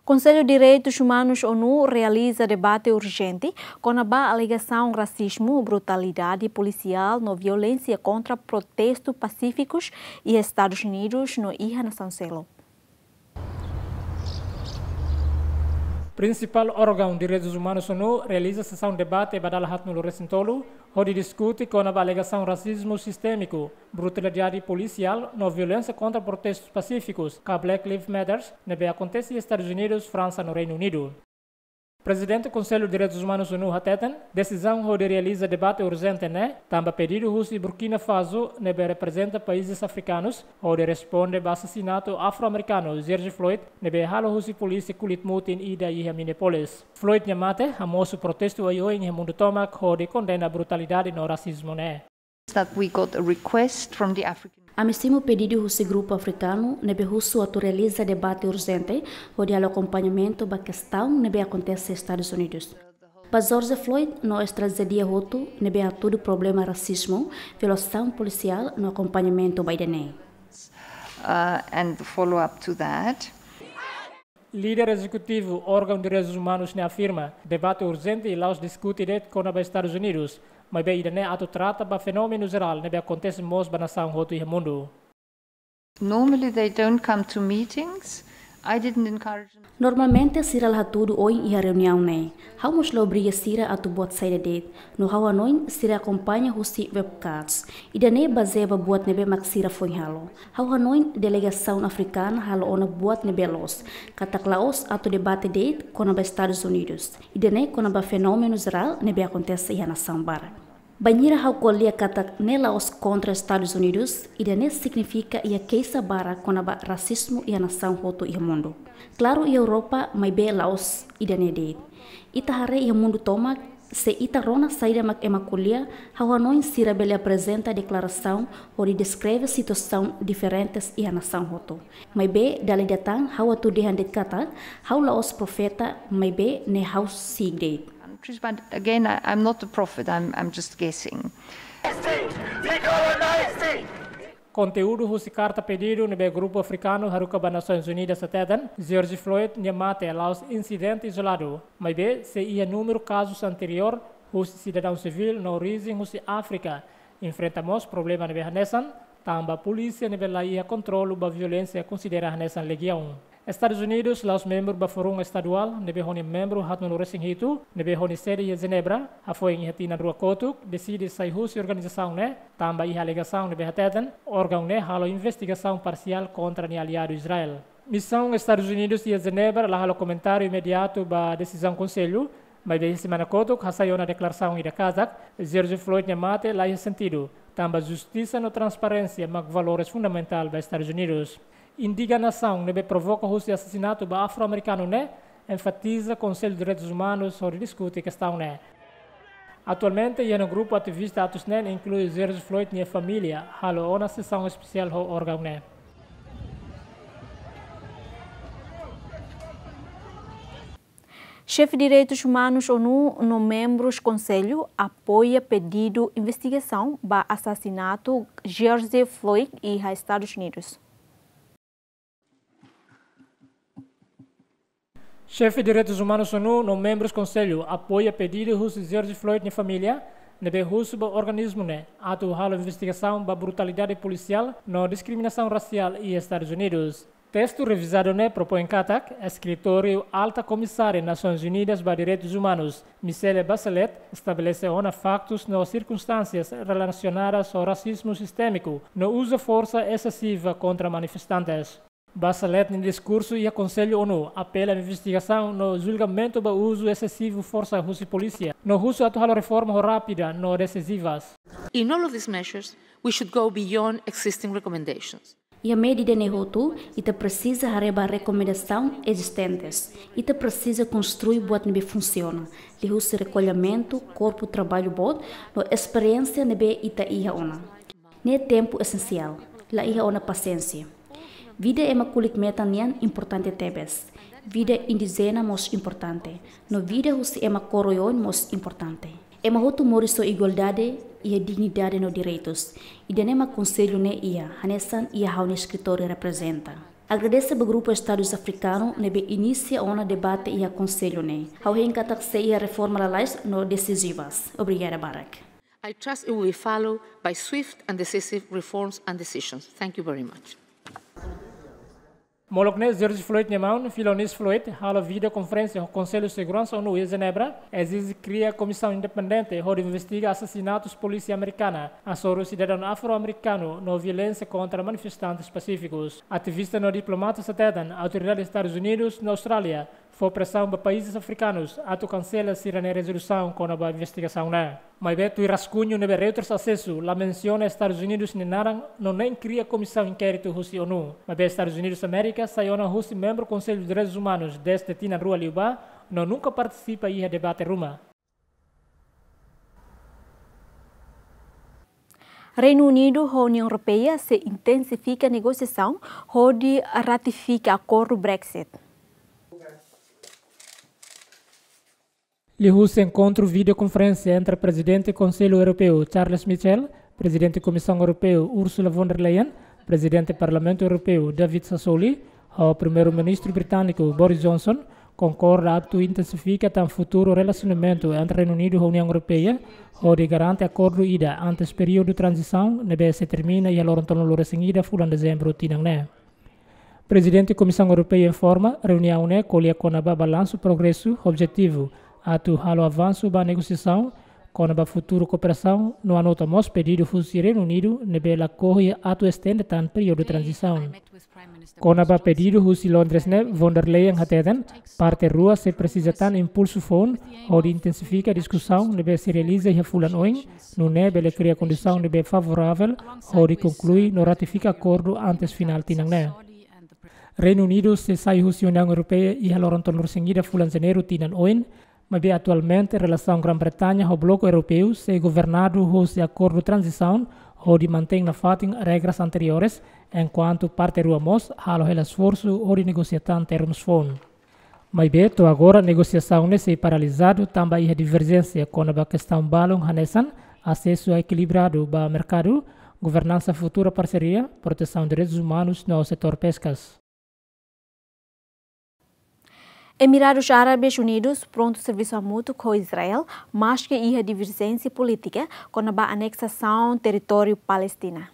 Konsellu Direitus Umanus ONU realiza debate urjente kona-ba alegasaun rasizmu, brutalidade polisiál no violénsia kontra protestu pasífikus iha Estadus Unidus no iha nasaun seluk. Prinsipál órgaun direitus umanus ONU realiza sesaun debate ba dala haatnulu-resin-tolu, hodi diskute kona-ba alegasaun rasizmu sistémiku, brutalidade polisiál no violénsia kontra protestus pasífikus, ka Black Lives Matters, ne'ebé akontese iha Estadus Unidus, Fransa no Reinu Unidu. Prezidente Konsellu Direitus Umanus ONU hateten, desizaun hodi realiza debate urjente ne'e tanba pedidu husi Burkina Faso, ne'ebé reprezenta países afrikanus, hodi responde ba asasinatu afro-amerikanu George Floyd, ne'ebé halo husi polísia kulit mutin ida iha Minneapolis. Floyd nia mate hamosu protestu oioin iha mundu tomak hodi kondena brutalidade no rasizmu ne'e. That we got a request from the African Ami simu pedidu husi grupu afrikanu ne'ebé husu atu realiza debate urjente hodi halo akompañamentu ba kestaun ne'ebé akontese Estadus Unidus. Ba George Floyd no es trajédia hotu ne'ebé hatudu problema rasizmu, violasaun polisiál no akompañamentu ba ida-ne'e. Uh, and the follow-up to that. Líder ezekutivu órgaun direitus umanus ne'e afirma, debate urjente la'ós diskute de'it kona-ba Estadus Unidus, maibé ida-ne'e atu trata ba fenómenu jerál ne'ebé akontese mós ba nasaun hotu iha mundu. Normally they don't come to meetings. I didn't encourage them. Normalmente sira la hatudu oin iha reuniaun ne'e. Ha'u mós la obriga sira atu buat saida de'it. No ha'u hanoin sira akompaña husi webcast. Ida-ne'e bazeia ba buat ne'ebé mak sira foin halo. Ha'u hanoin delegasaun afrikana halo ona buat ne'ebé loos, katak la'ós atu debate de'it kona-ba Estadus Unidus. Ida-ne'e kona-ba fenómenu jerál ne'ebé akontese iha nasaun barak. Bainhira ha'u ko'alia katak ne'e la'ós kontra Estadus Unidus, ida-ne'e signifika iha keixa barak kona-ba rasizmu iha nasaun hotu iha mundu. Klaru iha Europa, maibé la'ós ida-ne'e de'it. Ita haree iha mundu tomak, se ita rona saida mak ema ko'alia, ha'u hanoin sira bele aprezenta deklarasaun hodi deskreve situasaun diferentes iha nasaun hotu. Maibé dala ida tan ha'u atu dehan de'it katak, ha'u la'ós profeta, maibé ne'e ha'u si'ik de'it. But again, I, I'm not a prophet, I'm, I'm just guessing. Konteúdu husi karta pedidu ne'ebé grupu afrikanu haruka ba Nasoins Unidas hateten, George Floyd nia mate la'ós insidente izoladu, maibé sei iha númeru kazus anteriór husi sidadaun sivíl no orijen husi Áfrika enfrenta mós problema ne'ebé hanesan, tanba polísia ne'ebé la iha kontrolu ba violénsia konsidera hanesan legiaun. Estadus Unidus la'ós membru ba Forum Estaduál ne'ebé ho nia membru haatnulu-resin-hitu, ne'ebé ho nia sede iha Jenebra, hafoin iha tinan rua kotuk, deside sai husi organizasaun ne'e, tanba iha alegasaun ne'ebé hateten, órgaun ne'e halo investigasaun parsiál kontra nia aliadu Israel. Misaun Estadus Unidus iha Jenebra la halo komentáriu imediatu ba desizaun Konsellu, maibé iha semana kotuk hasai ona deklarasaun ida katak, George Floyd nia mate la iha sentidu, tanba justisa no transparénsia mak valores fundamentál ba Estadus Unidus. Indignasaun ne'ebé provoka husi asasinatu ba afro-amerikanu ne'e enfatiza Konsellu Direitus Umanus hodi diskute kestaun ne'e. Atualmente, iha ona grupu ativista atus neen inklui George Floyd nia família, halo ona sesaun espesiál ho órgaun ne'e. Xefe Direitus Umanus ONU no membrus Konsellu apoia pedidu investigasaun ba asasinatu George Floyd iha Estadus Unidus. Xefe Direitus Umanus ONU no membrus Konsellu apoia pedidu husi George Floyd nia família, ne'ebé husu ba organismu ne'e atu halo investigasaun ba brutalidade polisiál no diskriminasaun rasiál iha Estadus Unidus. Testu revizadu ne'e propoin katak Eskritóriu Alta Komisária Nasoins Unidas ba Direitus Umanus, Michelle Bachelet, estabelese ona faktus no sirkunstánsias relasionadas ho rasizmu sistémiku no uza forsa esesiva kontra manifestantes. Bachelet nia diskursu iha Konsellu ONU apela investigasaun no julgamentu ba uzu esesivu forsa husi polísia no husu atu halo reforma ho rápida no desizivas. In all of these measures, we should go beyond existing recommendations. Iha medida ne'e hotu, ita presiza haree ba rekomendasaun ezistentes. Ita presiza konstrui buat ne'ebé funsiona, liuhusi rekollamentu, korpu traballu boot, no esperiénsia ne'ebé ita iha ona. Ne'e tempu esensiál, la iha ona pasiénsia. Vida ema kulit metan nian importante tebes. Vida indíjena mós importante. No vida husi ema kór oioin mós importante. Ema hotu moris ho igualdade, iha dignidade no direitus. Ida-ne'e mak konsellu ne'e iha, hanesan iha ha'u-nia eskritóriu reprezenta. Agradese ba grupu Estadus Afrikanu ne'ebé inisia ona debate iha konsellu ne'e. Ha'u hein katak sei iha reforma lalais no desizivas. Obrigada barak. I trust it will be followed by swift and decisive reforms and decisions. Thank you very much. Molok ne'e George Floyd nia maun, Philonise Floyd, halo vídeo konferénsia ho Konsellu Seguransa ONU iha Jenebra, ezije kria komisaun independente hodi investiga asasinatus polísia amerikana, hasoru sidadaun afro-amerikanu no violénsia kontra manifestantes pasífikus. Ativista no diplomata hateten autoridade Estadus Unidus no Austrália fó presaun ba países afrikanus atu kansela sira-nia rezolusaun kona-ba investigasaun ne'e. Maibé tuir raskuñu ne'ebé Reuters asesu, la mensiona Estadus Unidus nia naran no nein kria komisaun inkéritu husi ONU. Maibé Estadus Unidus Amérika sai ona husi membru Konsellu Direitus Umanus dezde tinan rua liubá no nunka partisipa iha debate ruma. Reinu Unidu ho Uniaun Europeia sei intensifika negosiasaun hodi ratifika akordu Brexit. Liuhusi enkontru vídeo konferénsia entre Prezidente Konsellu Europeu Charles Michel, Prezidente Komisaun Europeu Ursula von der Leyen, Prezidente Parlamentu Europeu David Sassoli, ho Primeiru-Ministru Britániku Boris Johnson, konkorda atu intensifika tan futuru relasionamentu entre Reinu Unidu ho Uniaun Europeia, hodi garante akordu ida antes períodu tranzisaun ne'ebé sei termina iha loron tolunulu-resin-ida fulan Dezembru tinan ne'e. Prezidente Komisaun Europeia informa, reuniaun ne'e ko'alia kona-ba balansu progresu ho objetivu atu halo avansu ba negosiasaun kona-ba futuru kooperasaun no anota mós pedidu husi Reinu Unidu ne'ebé lakohi atu estende tan períodu tranzisaun. Kona-ba pedidu husi Londres ne'e, von der Leyen hateten, parte rua sei presiza tan impulsu foun hodi intensifika diskusaun ne'ebé sei realiza iha fulan oin, nune'e bele kria kondisaun ne'ebé favoravel hodi konklui no ratifika akordu antes finál tinan ne'e. Reinu Unidu sei sai husi Uniaun Europeia iha loron tolunulu-resin-ida fulan Janeiru tinan oin, maibé atualmente relasaun Grã-Bretaña ho Bloku Europeu sei governadu husi akordu tranzisaun hodi mantein nafatin regras anteriores, enkuantu parte rua mós halo hela esforsu hodi negosia tan termus foun. Maibé to'o agora negosiasaun ne'e sei paralizadu tanba iha diverjénsia kona-ba kestaun balun hanesan asesu ekilibradu ba merkadu, governansa futura parseria, protesaun direitus umanus no setór peskas. Emiradus Árabes Unidus prontu servisu hamutuk ho Israel, maske iha diverjénsia polítika kona-ba aneksasaun territóriu Palestina.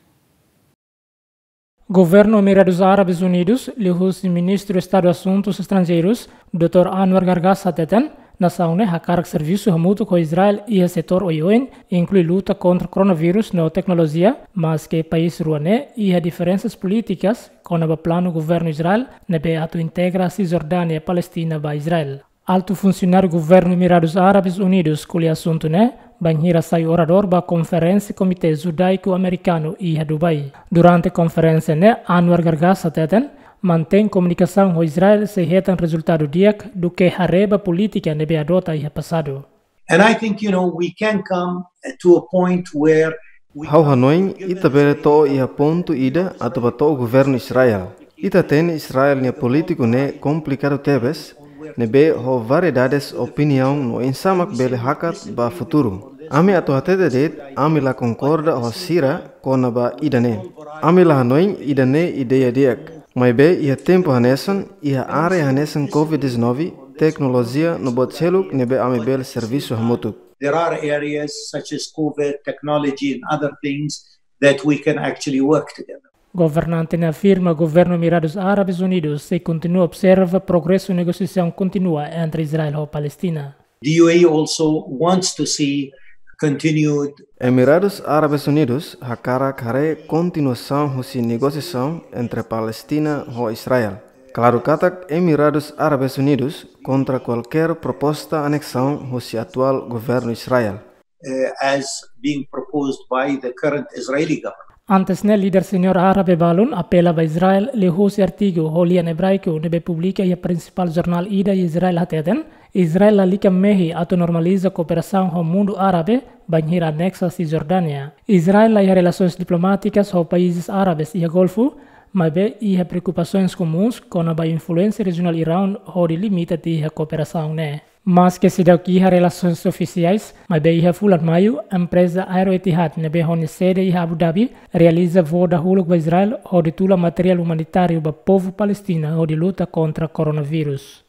Governu Emiradus Árabes Unidus, liuhusi Ministru Estadu Asuntus Estranjeirus, doutór Anwar Gargash hateten, nasaun ne'e hakarak servisu hamutuk ho Israel iha setór oioin, inklui luta kontra koronavírus no teknolojia, maske país rua ne'e iha diferensas polítikas kona-ba planu governu Israel ne'ebé atu integra Sisjordánia Palestina ba Israel. Altu funsionáriu governu Emiradus Árabes Unidus ko'alia asuntu ne'e bainhira sai oradór ba konferénsia Komité Judaiku Amerikanu iha Dubai. Durante konferénsia ne'e, Anwar Gargash hateten, mantein komunikasaun ho Israel sei hetan rezultadu di'ak duké haree ba polítika ne'ebé adota iha pasadu. And I think, you know, we can come to a point where we Ha'u hanoin, ita bele to'o iha pontu ida atu bá to'o governu Israel. Ita hatene Israel nia polítiku ne'e komplikadu tebes, ne'ebé ho variedades opiniaun no oinsá mak bele hakat ba futuru. Ami atu hatete de'it, ami la konkorda ho sira kona-ba ida-ne'e. Ami la hanoin ida-ne'e ideia di'ak. Maibé iha tempu hanesan, iha área hanesan covid dezanove, teknolojia no buat seluk ne'ebé ami bele servisu hamutuk. There are areas such as covid, technology and other things that we can actually work together. Governante ne'e afirma governu Emiradus Árabes Unidus sei kontinua observa progresu negosiasaun kontínua entre Israel ho Palestina. The U A E also wants to see continued. Emiradus Árabes Unidus hakarak haree kontinuasaun husi negosiasaun entre Palestina ho Israel. Klaru katak Emiradus Árabes Unidus kontra kualkér proposta aneksaun husi atuál governu Israel. Uh, as being proposed by the current Israeli government. Antes ne'e, líder seniór árabe balun apela ba Israel liuhusi artigu ho lian ebraiku ne'ebé publika iha prinsipál jornál ida iha Israel hateten, Israel lalika mehi atu normaliza kooperasaun ho mundu árabe bainhira aneksa Sisjordánia. Israel la iha relasoens diplomátikas ho países árabes iha Golfu, maibé iha preokupasoens komuns kona-ba influénsia rejionál Irão hodi limita tiha kooperasaun ne'e. Maske seidauk iha relasoens ofisiais, maibé iha fulan Maiu, empreza Aero Etihad ne'ebé ho nia sede iha Abu Dhabi realiza voo dahuluk ba Israel hodi tula materiál umanitáriu ba povu Palestina hodi luta kontra koronavírus.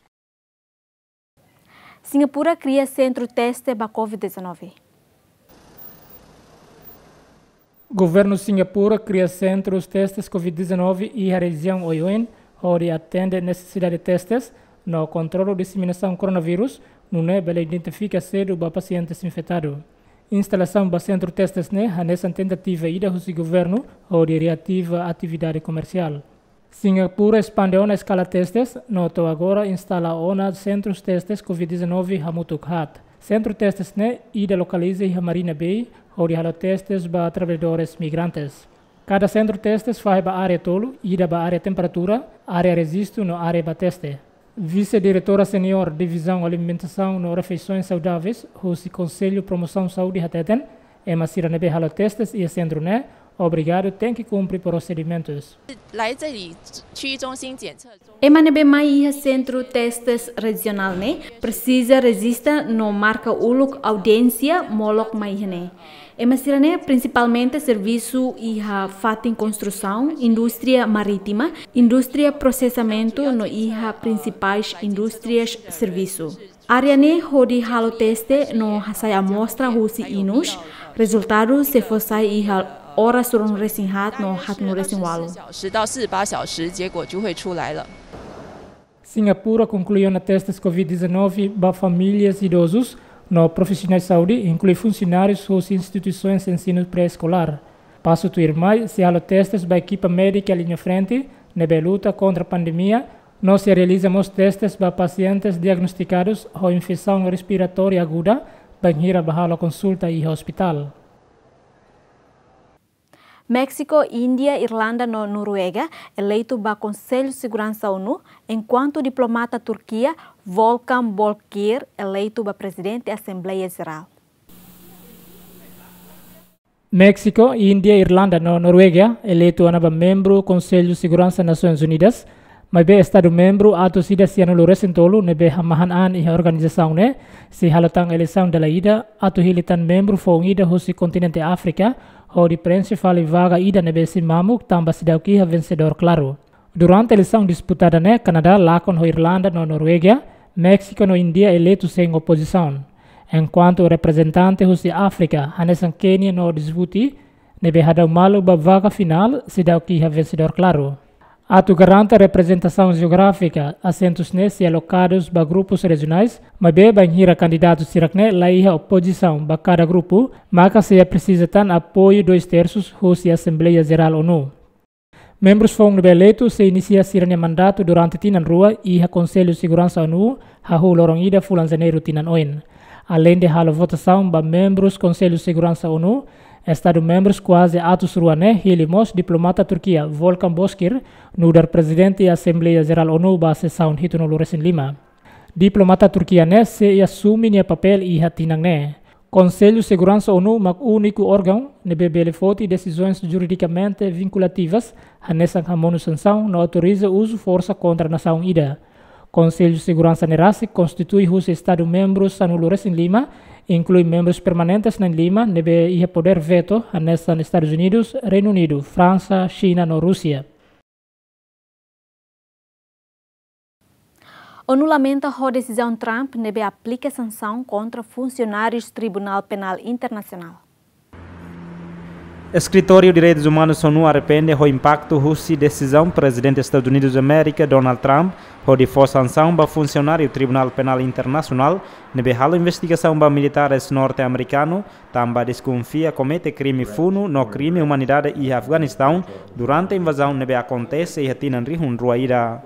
Singapura kria sentru teste ba covid dezanove. Governu Singapura kria sentrus testes covid dezanove iha rejiaun oioin, hodi atende nesesidade testes no kontrolu diseminasaun koronavírus, nune'e bele identifika sedu ba pasientes infetadu. Instalasaun ba sentru testes ne'e hanesan tentativa ida husi governu hodi reativa atividade komersiál. Singapura espande ona eskala testes, no to'o agora instala ona sentrus testes covid dezanove hamutuk haat. Sentru testes ne'e ida lokaliza iha Marina Bay, hodi halo testes ba traballadores migrantes. Kada sentru testes fahe ba área tolu, ida ba área temperatura, área rejistu no área ba teste. Vise-diretora seniór Divizaun Alimentasaun no Refeisoens Saudáveis husi Konsellu Promosaun Saúde hateten, ema sira ne'ebé halo testes iha sentru ne'e, obrigadu tenke kumpre prosedimentus. 来这里区域中心检测中 Ema ne'ebé mai iha sentru testes rejionál ne'e presiza rejista no marka uluk audiénsia molok mai iha ne'e. Ema sira-ne'e prinsipalmente servisu iha fatin konstrusaun, indústria marítima, indústria prosesamentu no iha prinsipais indústrias servisu. Área ne'e hodi halo teste no hasai amostra husi inus, rezultadu sei fó sai iha oras ruanulu-resin-haat no haatnulu-resin-ualu. 小时到四十八小时，结果就会出来了。 Singapura konklui ona testes covid dezanove ba famílias idozus no profisionais saúde, inklui funsionárius husi instituisoens ensinu pré-eskolár. Pasu tuirmai, sei halo testes ba ekipa médika liña frente ne'ebé luta kontra pandemia, no sei realiza mós testes ba pasientes diagnostikadus ho infesaun respiratória aguda, bainhira bá halo konsulta iha ospitál. Méxiku, Índia, Irlanda no Noruega eleitu ba Konsellu Seguransa ONU, enkuantu diplomata Turkia, Volkan Bozkır, eleitu ba Prezidente Asembleia Jerál. Méxiku, Índia, Irlanda no Noruega eleitu ona ba membru Konsellu Seguransa Nasoins Unidas, maibé Estadu membru atus ida sianulu-resin-tolu ne'ebé hamahan an iha organizasaun ne'e, sei halo tan eleisaun dala ida atu hili tan membru foun ida husi kontinente Áfrika, hodi preenxe fali vaga ida ne'ebé sei mamuk tanba seidauk iha vensedór klaru. Durante eleisaun disputada ne'e, Kanadá lakon ho Irlanda no Noruega, Méxiku no Índia eleitu sein opozisaun. Enkuantu reprezentante husi Áfrika, hanesan Kénia no Djibouti, ne'ebé hadau malu ba vaga finál, seidauk iha vensedór klaru. Atu garante reprezentasaun jeográfika, asentus ne'e sei alokadus ba grupus rejionais, maibé bainhira kandidatu sira-ne'e la iha opozisaun ba kada grupu, maka sei presiza tan apoiu dois terços husi Asembleia Jerál ONU. Membrus foun ne'ebé eleitu sei inisia sira-nia mandatu durante tinan rua iha Konsellu Seguransa ONU, hahú loron ida fulan Janeiru tinan oin. Aleinde halo votasaun ba membrus Konsellu Seguransa ONU, Estadu membrus kuaze atus rua ne'e hili mós diplomata Turkia, Volkan Bozkır, nu'udar Prezidente Asembleia Jerál ONU ba sesaun hitunulu-resin-lima. Diplomata Turkia ne'e sei asume nia papél iha tinan ne'e. Konsellu Seguransa ONU mak úniku órgaun ne'ebé bele foti desizoens juridikamente vinkulativas, hanesan hamonu sansaun no autoriza uzu forsa kontra nasaun ida. Konsellu Seguransa ne'e rasik konstitui husi Estadu membrus sanulu-resin-lima, inklui membrus permanentes na'in-lima ne'ebé iha podér veto, hanesan Estadus Unidus, Reinu Unidu, Fransa, Xina no Rúsia. ONU lamenta ho desizaun Trump ne'ebé aplika sansaun kontra funsionárius Tribunál Penál Internasionál. Eskritóriu Direitus Umanus ONU arrepende ho impaktu husi desizaun Prezidente Estadus Unidus Amérika, Donald Trump, hodi fó sansaun ba funsionáriu Tribunál Penál Internasionál ne'ebé halo investigasaun ba militares norte-amerikanu, tanba deskonfia komete krime funu no krime umanidade iha Afeganistaun durante invazaun ne'ebé akontese iha tinan rihun rua ida.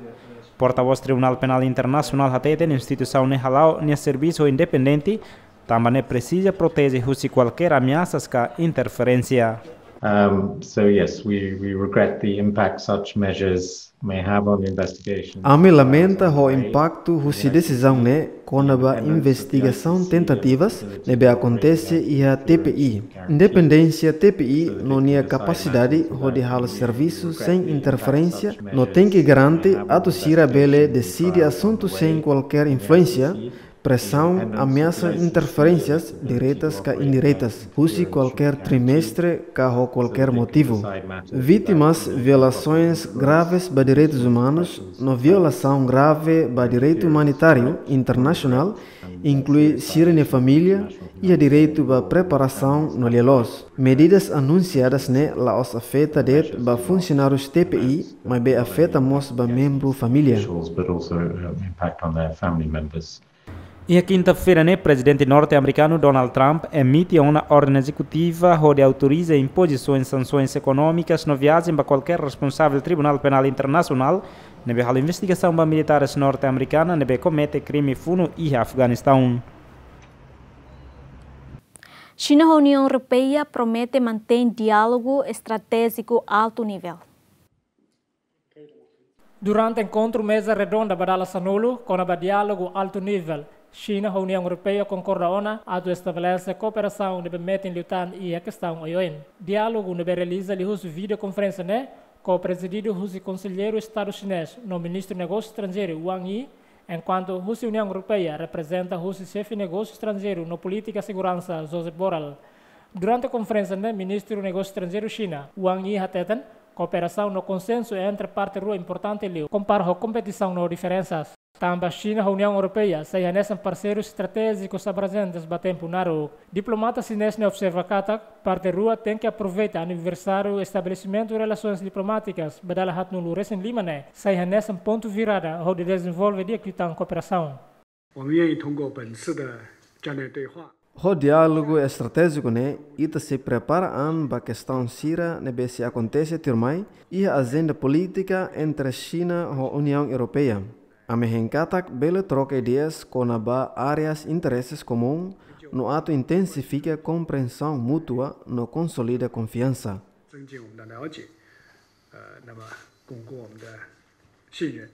Portavós Tribunál Penál Internasionál hateten instituisaun ne'e hala'o nia servisu independente, tanba ne'e presiza proteje husi kualkér ameasas ka interferénsia. Um, so yes, we, we regret the impact such measures may have on investigations. Ami lamenta ho impaktu husi desizaun ne'e kona-ba investigasaun tentativas ne'ebé akontese iha T P I. Independénsia T P I no nia kapasidade hodi halo servisu sein interferénsia no tenke garante atu sira bele deside asuntu sein kualkér influénsia, presaun, ameasas, interferénsias diretas ka indiretas husi kualkér trimestre ka ho kualkér motivu. Vítimas violasoens graves ba direitus umanus no violasaun grave ba direitu umanitáriu internasionál inklui sira-nia família iha direitu ba preparasaun no lia-loos. Medidas anunsiadas ne'e la'ós afeta de'it ba funsionárius T P I, maibé afeta mós ba membru família. But also, um, impact on their family members. Iha kinta-feira ne'e, Prezidente norte-amerikanu Donald Trump emite ona orden ezekutiva hodi autoriza impozisaun sansoens ekonómikas no viajen ba kualkér responsavel Tribunál Penál Internasionál ne'ebé halo investigasaun ba militares norte-amerikana ne'ebé komete krime funu iha Afeganistaun. Xina ho Uniaun Europeia promete mantein diálogu estratéjiku altu nivel. Durante enkontru meza redonda ba dala sanulu kona-ba diálogu altu nivel, Xina ho Uniaun Europeia konkorda ona atu estabelese kooperasaun ne'ebé metin liután iha kestaun oioin. Diálogu ne'ebé realiza liuhusi videokonferénsia ne'e, ko-prezididu husi Konselleiru Estadu Xinés no Ministru Negósiu Estranjeiru Wang Yi, enkuantu husi Uniaun Europeia reprezenta husi Xefe Negósiu Estranjeiru no Polítika Seguransa, Josep Borrell. Durante konferénsia ne'e, Ministru Negósiu Estranjeiru Xina, Wang Yi hateten, kooperasaun no konsensu entre parte rua importante liu, kompara ho kompetisaun no diferensas. Tanba Xina ho Uniaun Europeia sai hanesan parseirus estratéjikus abrajentes ba tempu naruk. Diplomata xinés ne'e observa katak, parte rua tenke aproveita aniversáriu estabelesimentu relasoens diplomátikas ba dala haatnulu resin lima ne'e sai hanesan pontu virada hodi dezenvolve di'ak liután kooperasaun. 我们愿意通过本次的战略对话。 Ho diálogu estratéjiku ne'e, ita sei prepara an ba kestaun sira ne'ebé sei akontese tuirmai iha ajenda polítika entre Xina ho Uniaun Europeia. Ami hein katak bele troka ideias kona-ba áreas intereses komún no atu intensifika komprensaun mútua no konsolida konfiansa. 增进我们的了解，呃，那么巩固我们的信任。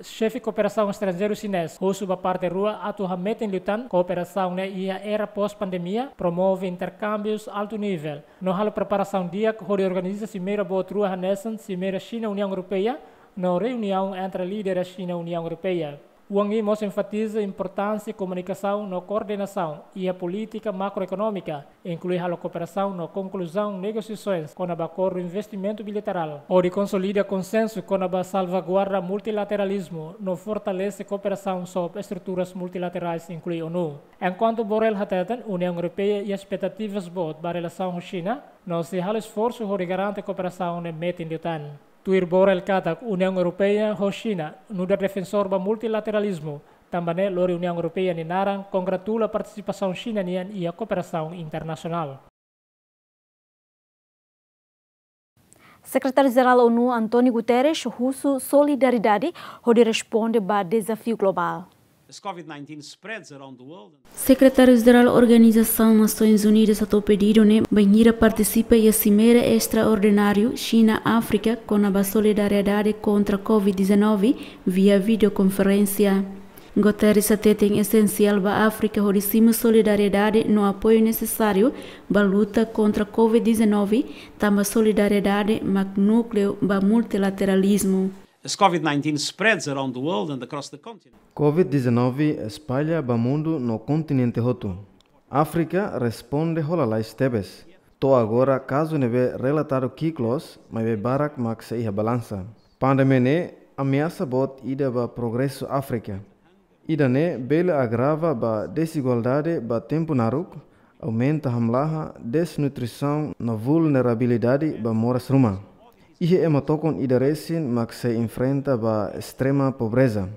Xefe Kooperasaun Estranjeiru Xinés husu ba parte rua atu hametin liután kooperasaun ne'e iha era pós-pandemia, promove interkámbius altu nivel, no halo preparasaun di'ak hodi organiza simeira boot rua hanesan simeira Xina-Uniaun Europeia no reuniaun entre líderes Xina-Uniaun Europeia. Wang Yi mós enfatiza importánsia komunikasaun no koordenasaun iha polítika makroekonómika, inklui halo kooperasaun no konkluzaun negosiasoens kona-ba akordu investimentu bilaterál, hodi konsolida konsensu kona-ba salvaguarda multilateralizmu no fortalese kooperasaun sob estruturas multilaterais, inklui ONU. Enkuantu Borrell hateten, Uniaun Europeia iha espetativas boot ba relasaun ho Xina, no sei halo esforsu hodi garante kooperasaun ne'e metin liután. Tuir Borrell katak, Uniaun Europeia ho Xina nu'udar defensór ba multilateralizmu, tanba ne'e lori Uniaun Europeia nia naran kongratula partisipasaun Xina nian iha kooperasaun internasionál. Sekretáriu-Jerál ONU António Guterres husu solidariedade hodi responde ba dezafiu globál. As COVID nineteen spreads around the world and Sekretáriu-Jerál Organizasaun Nasoins Unidas hato'o pedidu ne'e bainhira partisipa iha simeira estraordináriu Xina-Áfrika kona-ba solidariedade kontra COVID dezanove via videokonferénsia. Guterres hateten esensiál ba Áfrika hodi simu solidariedade no apoiu nesesáriu ba luta kontra COVID dezanove, tanba solidariedade mak núkleu ba multilateralizmu. As COVID nineteen spreads around the world and across the continent. COVID dezanove espalla ba mundu no kontinente hotu. Áfrika responde ho lalais tebes. To'o agora kazu ne'ebé relatadu ki'ik loos, maibé barak mak sei iha balansa. Pandemia ne'e ameasa boot ida ba progresu Áfrika. Ida-ne'e bele agrava ba dezigualdade ba tempu naruk, aumenta hamlaha, desnutrisaun no vulnerabilidade ba moras ruma. Iha ema tokon ida resin mak sei enfrenta ba estrema pobreza.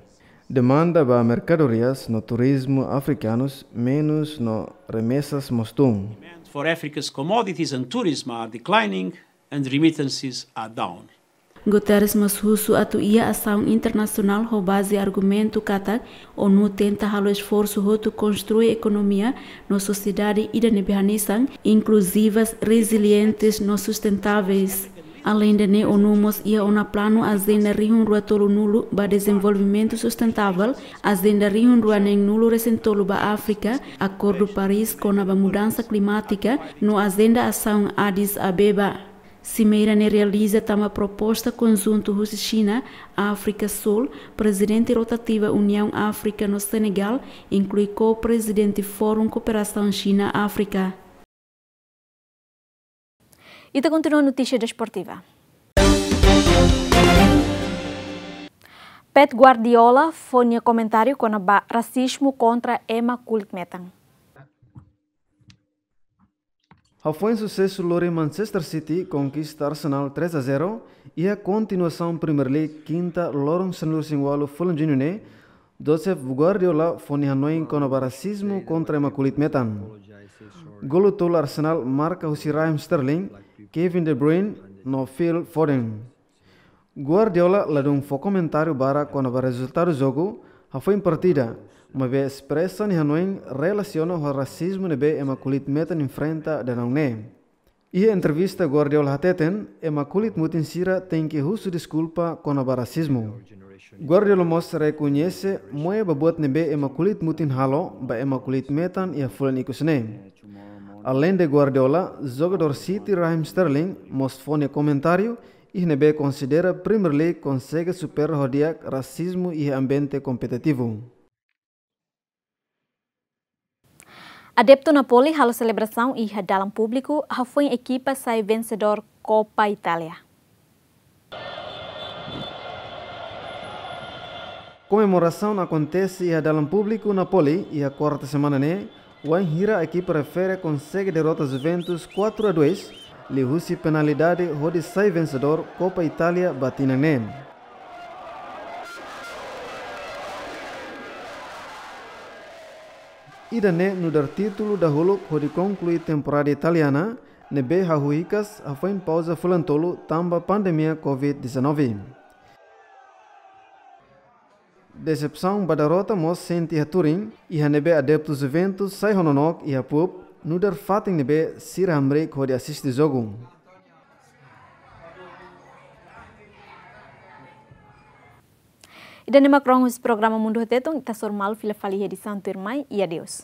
Demanda ba merkadorias no turizmu afrikanus menus no remesas mós tun. Demand for Africa's commodities and tourism are declining and remittances are down. Guterres mós husu atu iha asaun internasionál ho baze argumentu katak ONU tenta halo esforsu hotu konstrui ekonomia no sosiedade ida ne'ebé hanesan, inkluzivas, rezilientes no sustentáveis. Aleinde ne'e, ONU mós iha ona planu Ajenda rihun rua tolunulu ba dezenvolvimentu sustentável, Ajenda rihun rua neenulu resin tolu ba Áfrika, Akordu Paris kona-ba mudansa klimátika, no Ajenda Asaun Addis Abeba. Simeira ne'e realiza tanba proposta konjuntu husi Xina, Áfrika Súl, prezidente rotativa Uniaun Áfrika no Senegál, inklui ko-prezidente Fórum Kooperasaun Xina-Áfrika. Ita kontinua notísia desportiva. Pep Guardiola fó nia komentáriu kona-ba rasizmu kontra ema kulit metan. Hafoin susesu lori Manchester City konkista Arsenal três a zero iha kontinuasaun Premier League kinta loron sanulu-resin-ualu fulan Juñu ne'e, Josep Guardiola fó nia hanoin kona-ba rasizmu kontra ema kulit metan. Golu tolu Arsenal marka husi Raheem Sterling, Kevin De Bruyne no Phil Foden. Guardiola ladún fó komentáriu barak kona-ba rezultadu jogu hafoin partida, maibé espresa nia hanoin relasiona ho rasizmu ne'ebé ema kulit metan enfrenta dadaun ne'e. Iha entrevista Guardiola hateten, ema kulit mutin sira tenke husu deskulpa kona-ba rasizmu. Guardiola mós rekoñese moe ba buat ne'ebé ema kulit mutin halo ba ema kulit metan iha fulan ikus ne'e. Aleinde Guardiola, jogadór City Raheem Sterling mós fó nia komentáriu iha ne'ebé konsidera Premier League konsege supera ho di'ak rasizmu iha ambiente kompetitivu. Adeptu Napoli halo selebrasaun iha dalan públiku hafoin ekipa sai vensedór Copa Itália. Komemorasaun akontese iha dalan públiku Napoli iha kuarta semana ne'e, wainhira ekipa refere konsege derrota Juventus quatro a dois, liuhusi penalidade hodi sai vensedór Copa Itália ba tinan ne'e. Ida-ne'e nu'udar títulu dahuluk hodi konklui temporada italiana, ne'ebé hahú hikas hafoin pauza fulan tolu tanba pandemia Covid dezanove. Desepsaun ba derrota mós sente iha Turin, iha ne'ebé adeptu Juventus sai ho nonook iha pub, nu'udar fatin ne'ebé sira hamriik hodi asiste jogu. Ida-ne'e mak rona husi programa Mundu ho Tetun, ita hasoru malu fila fali iha edisaun tuirmai, i adeus.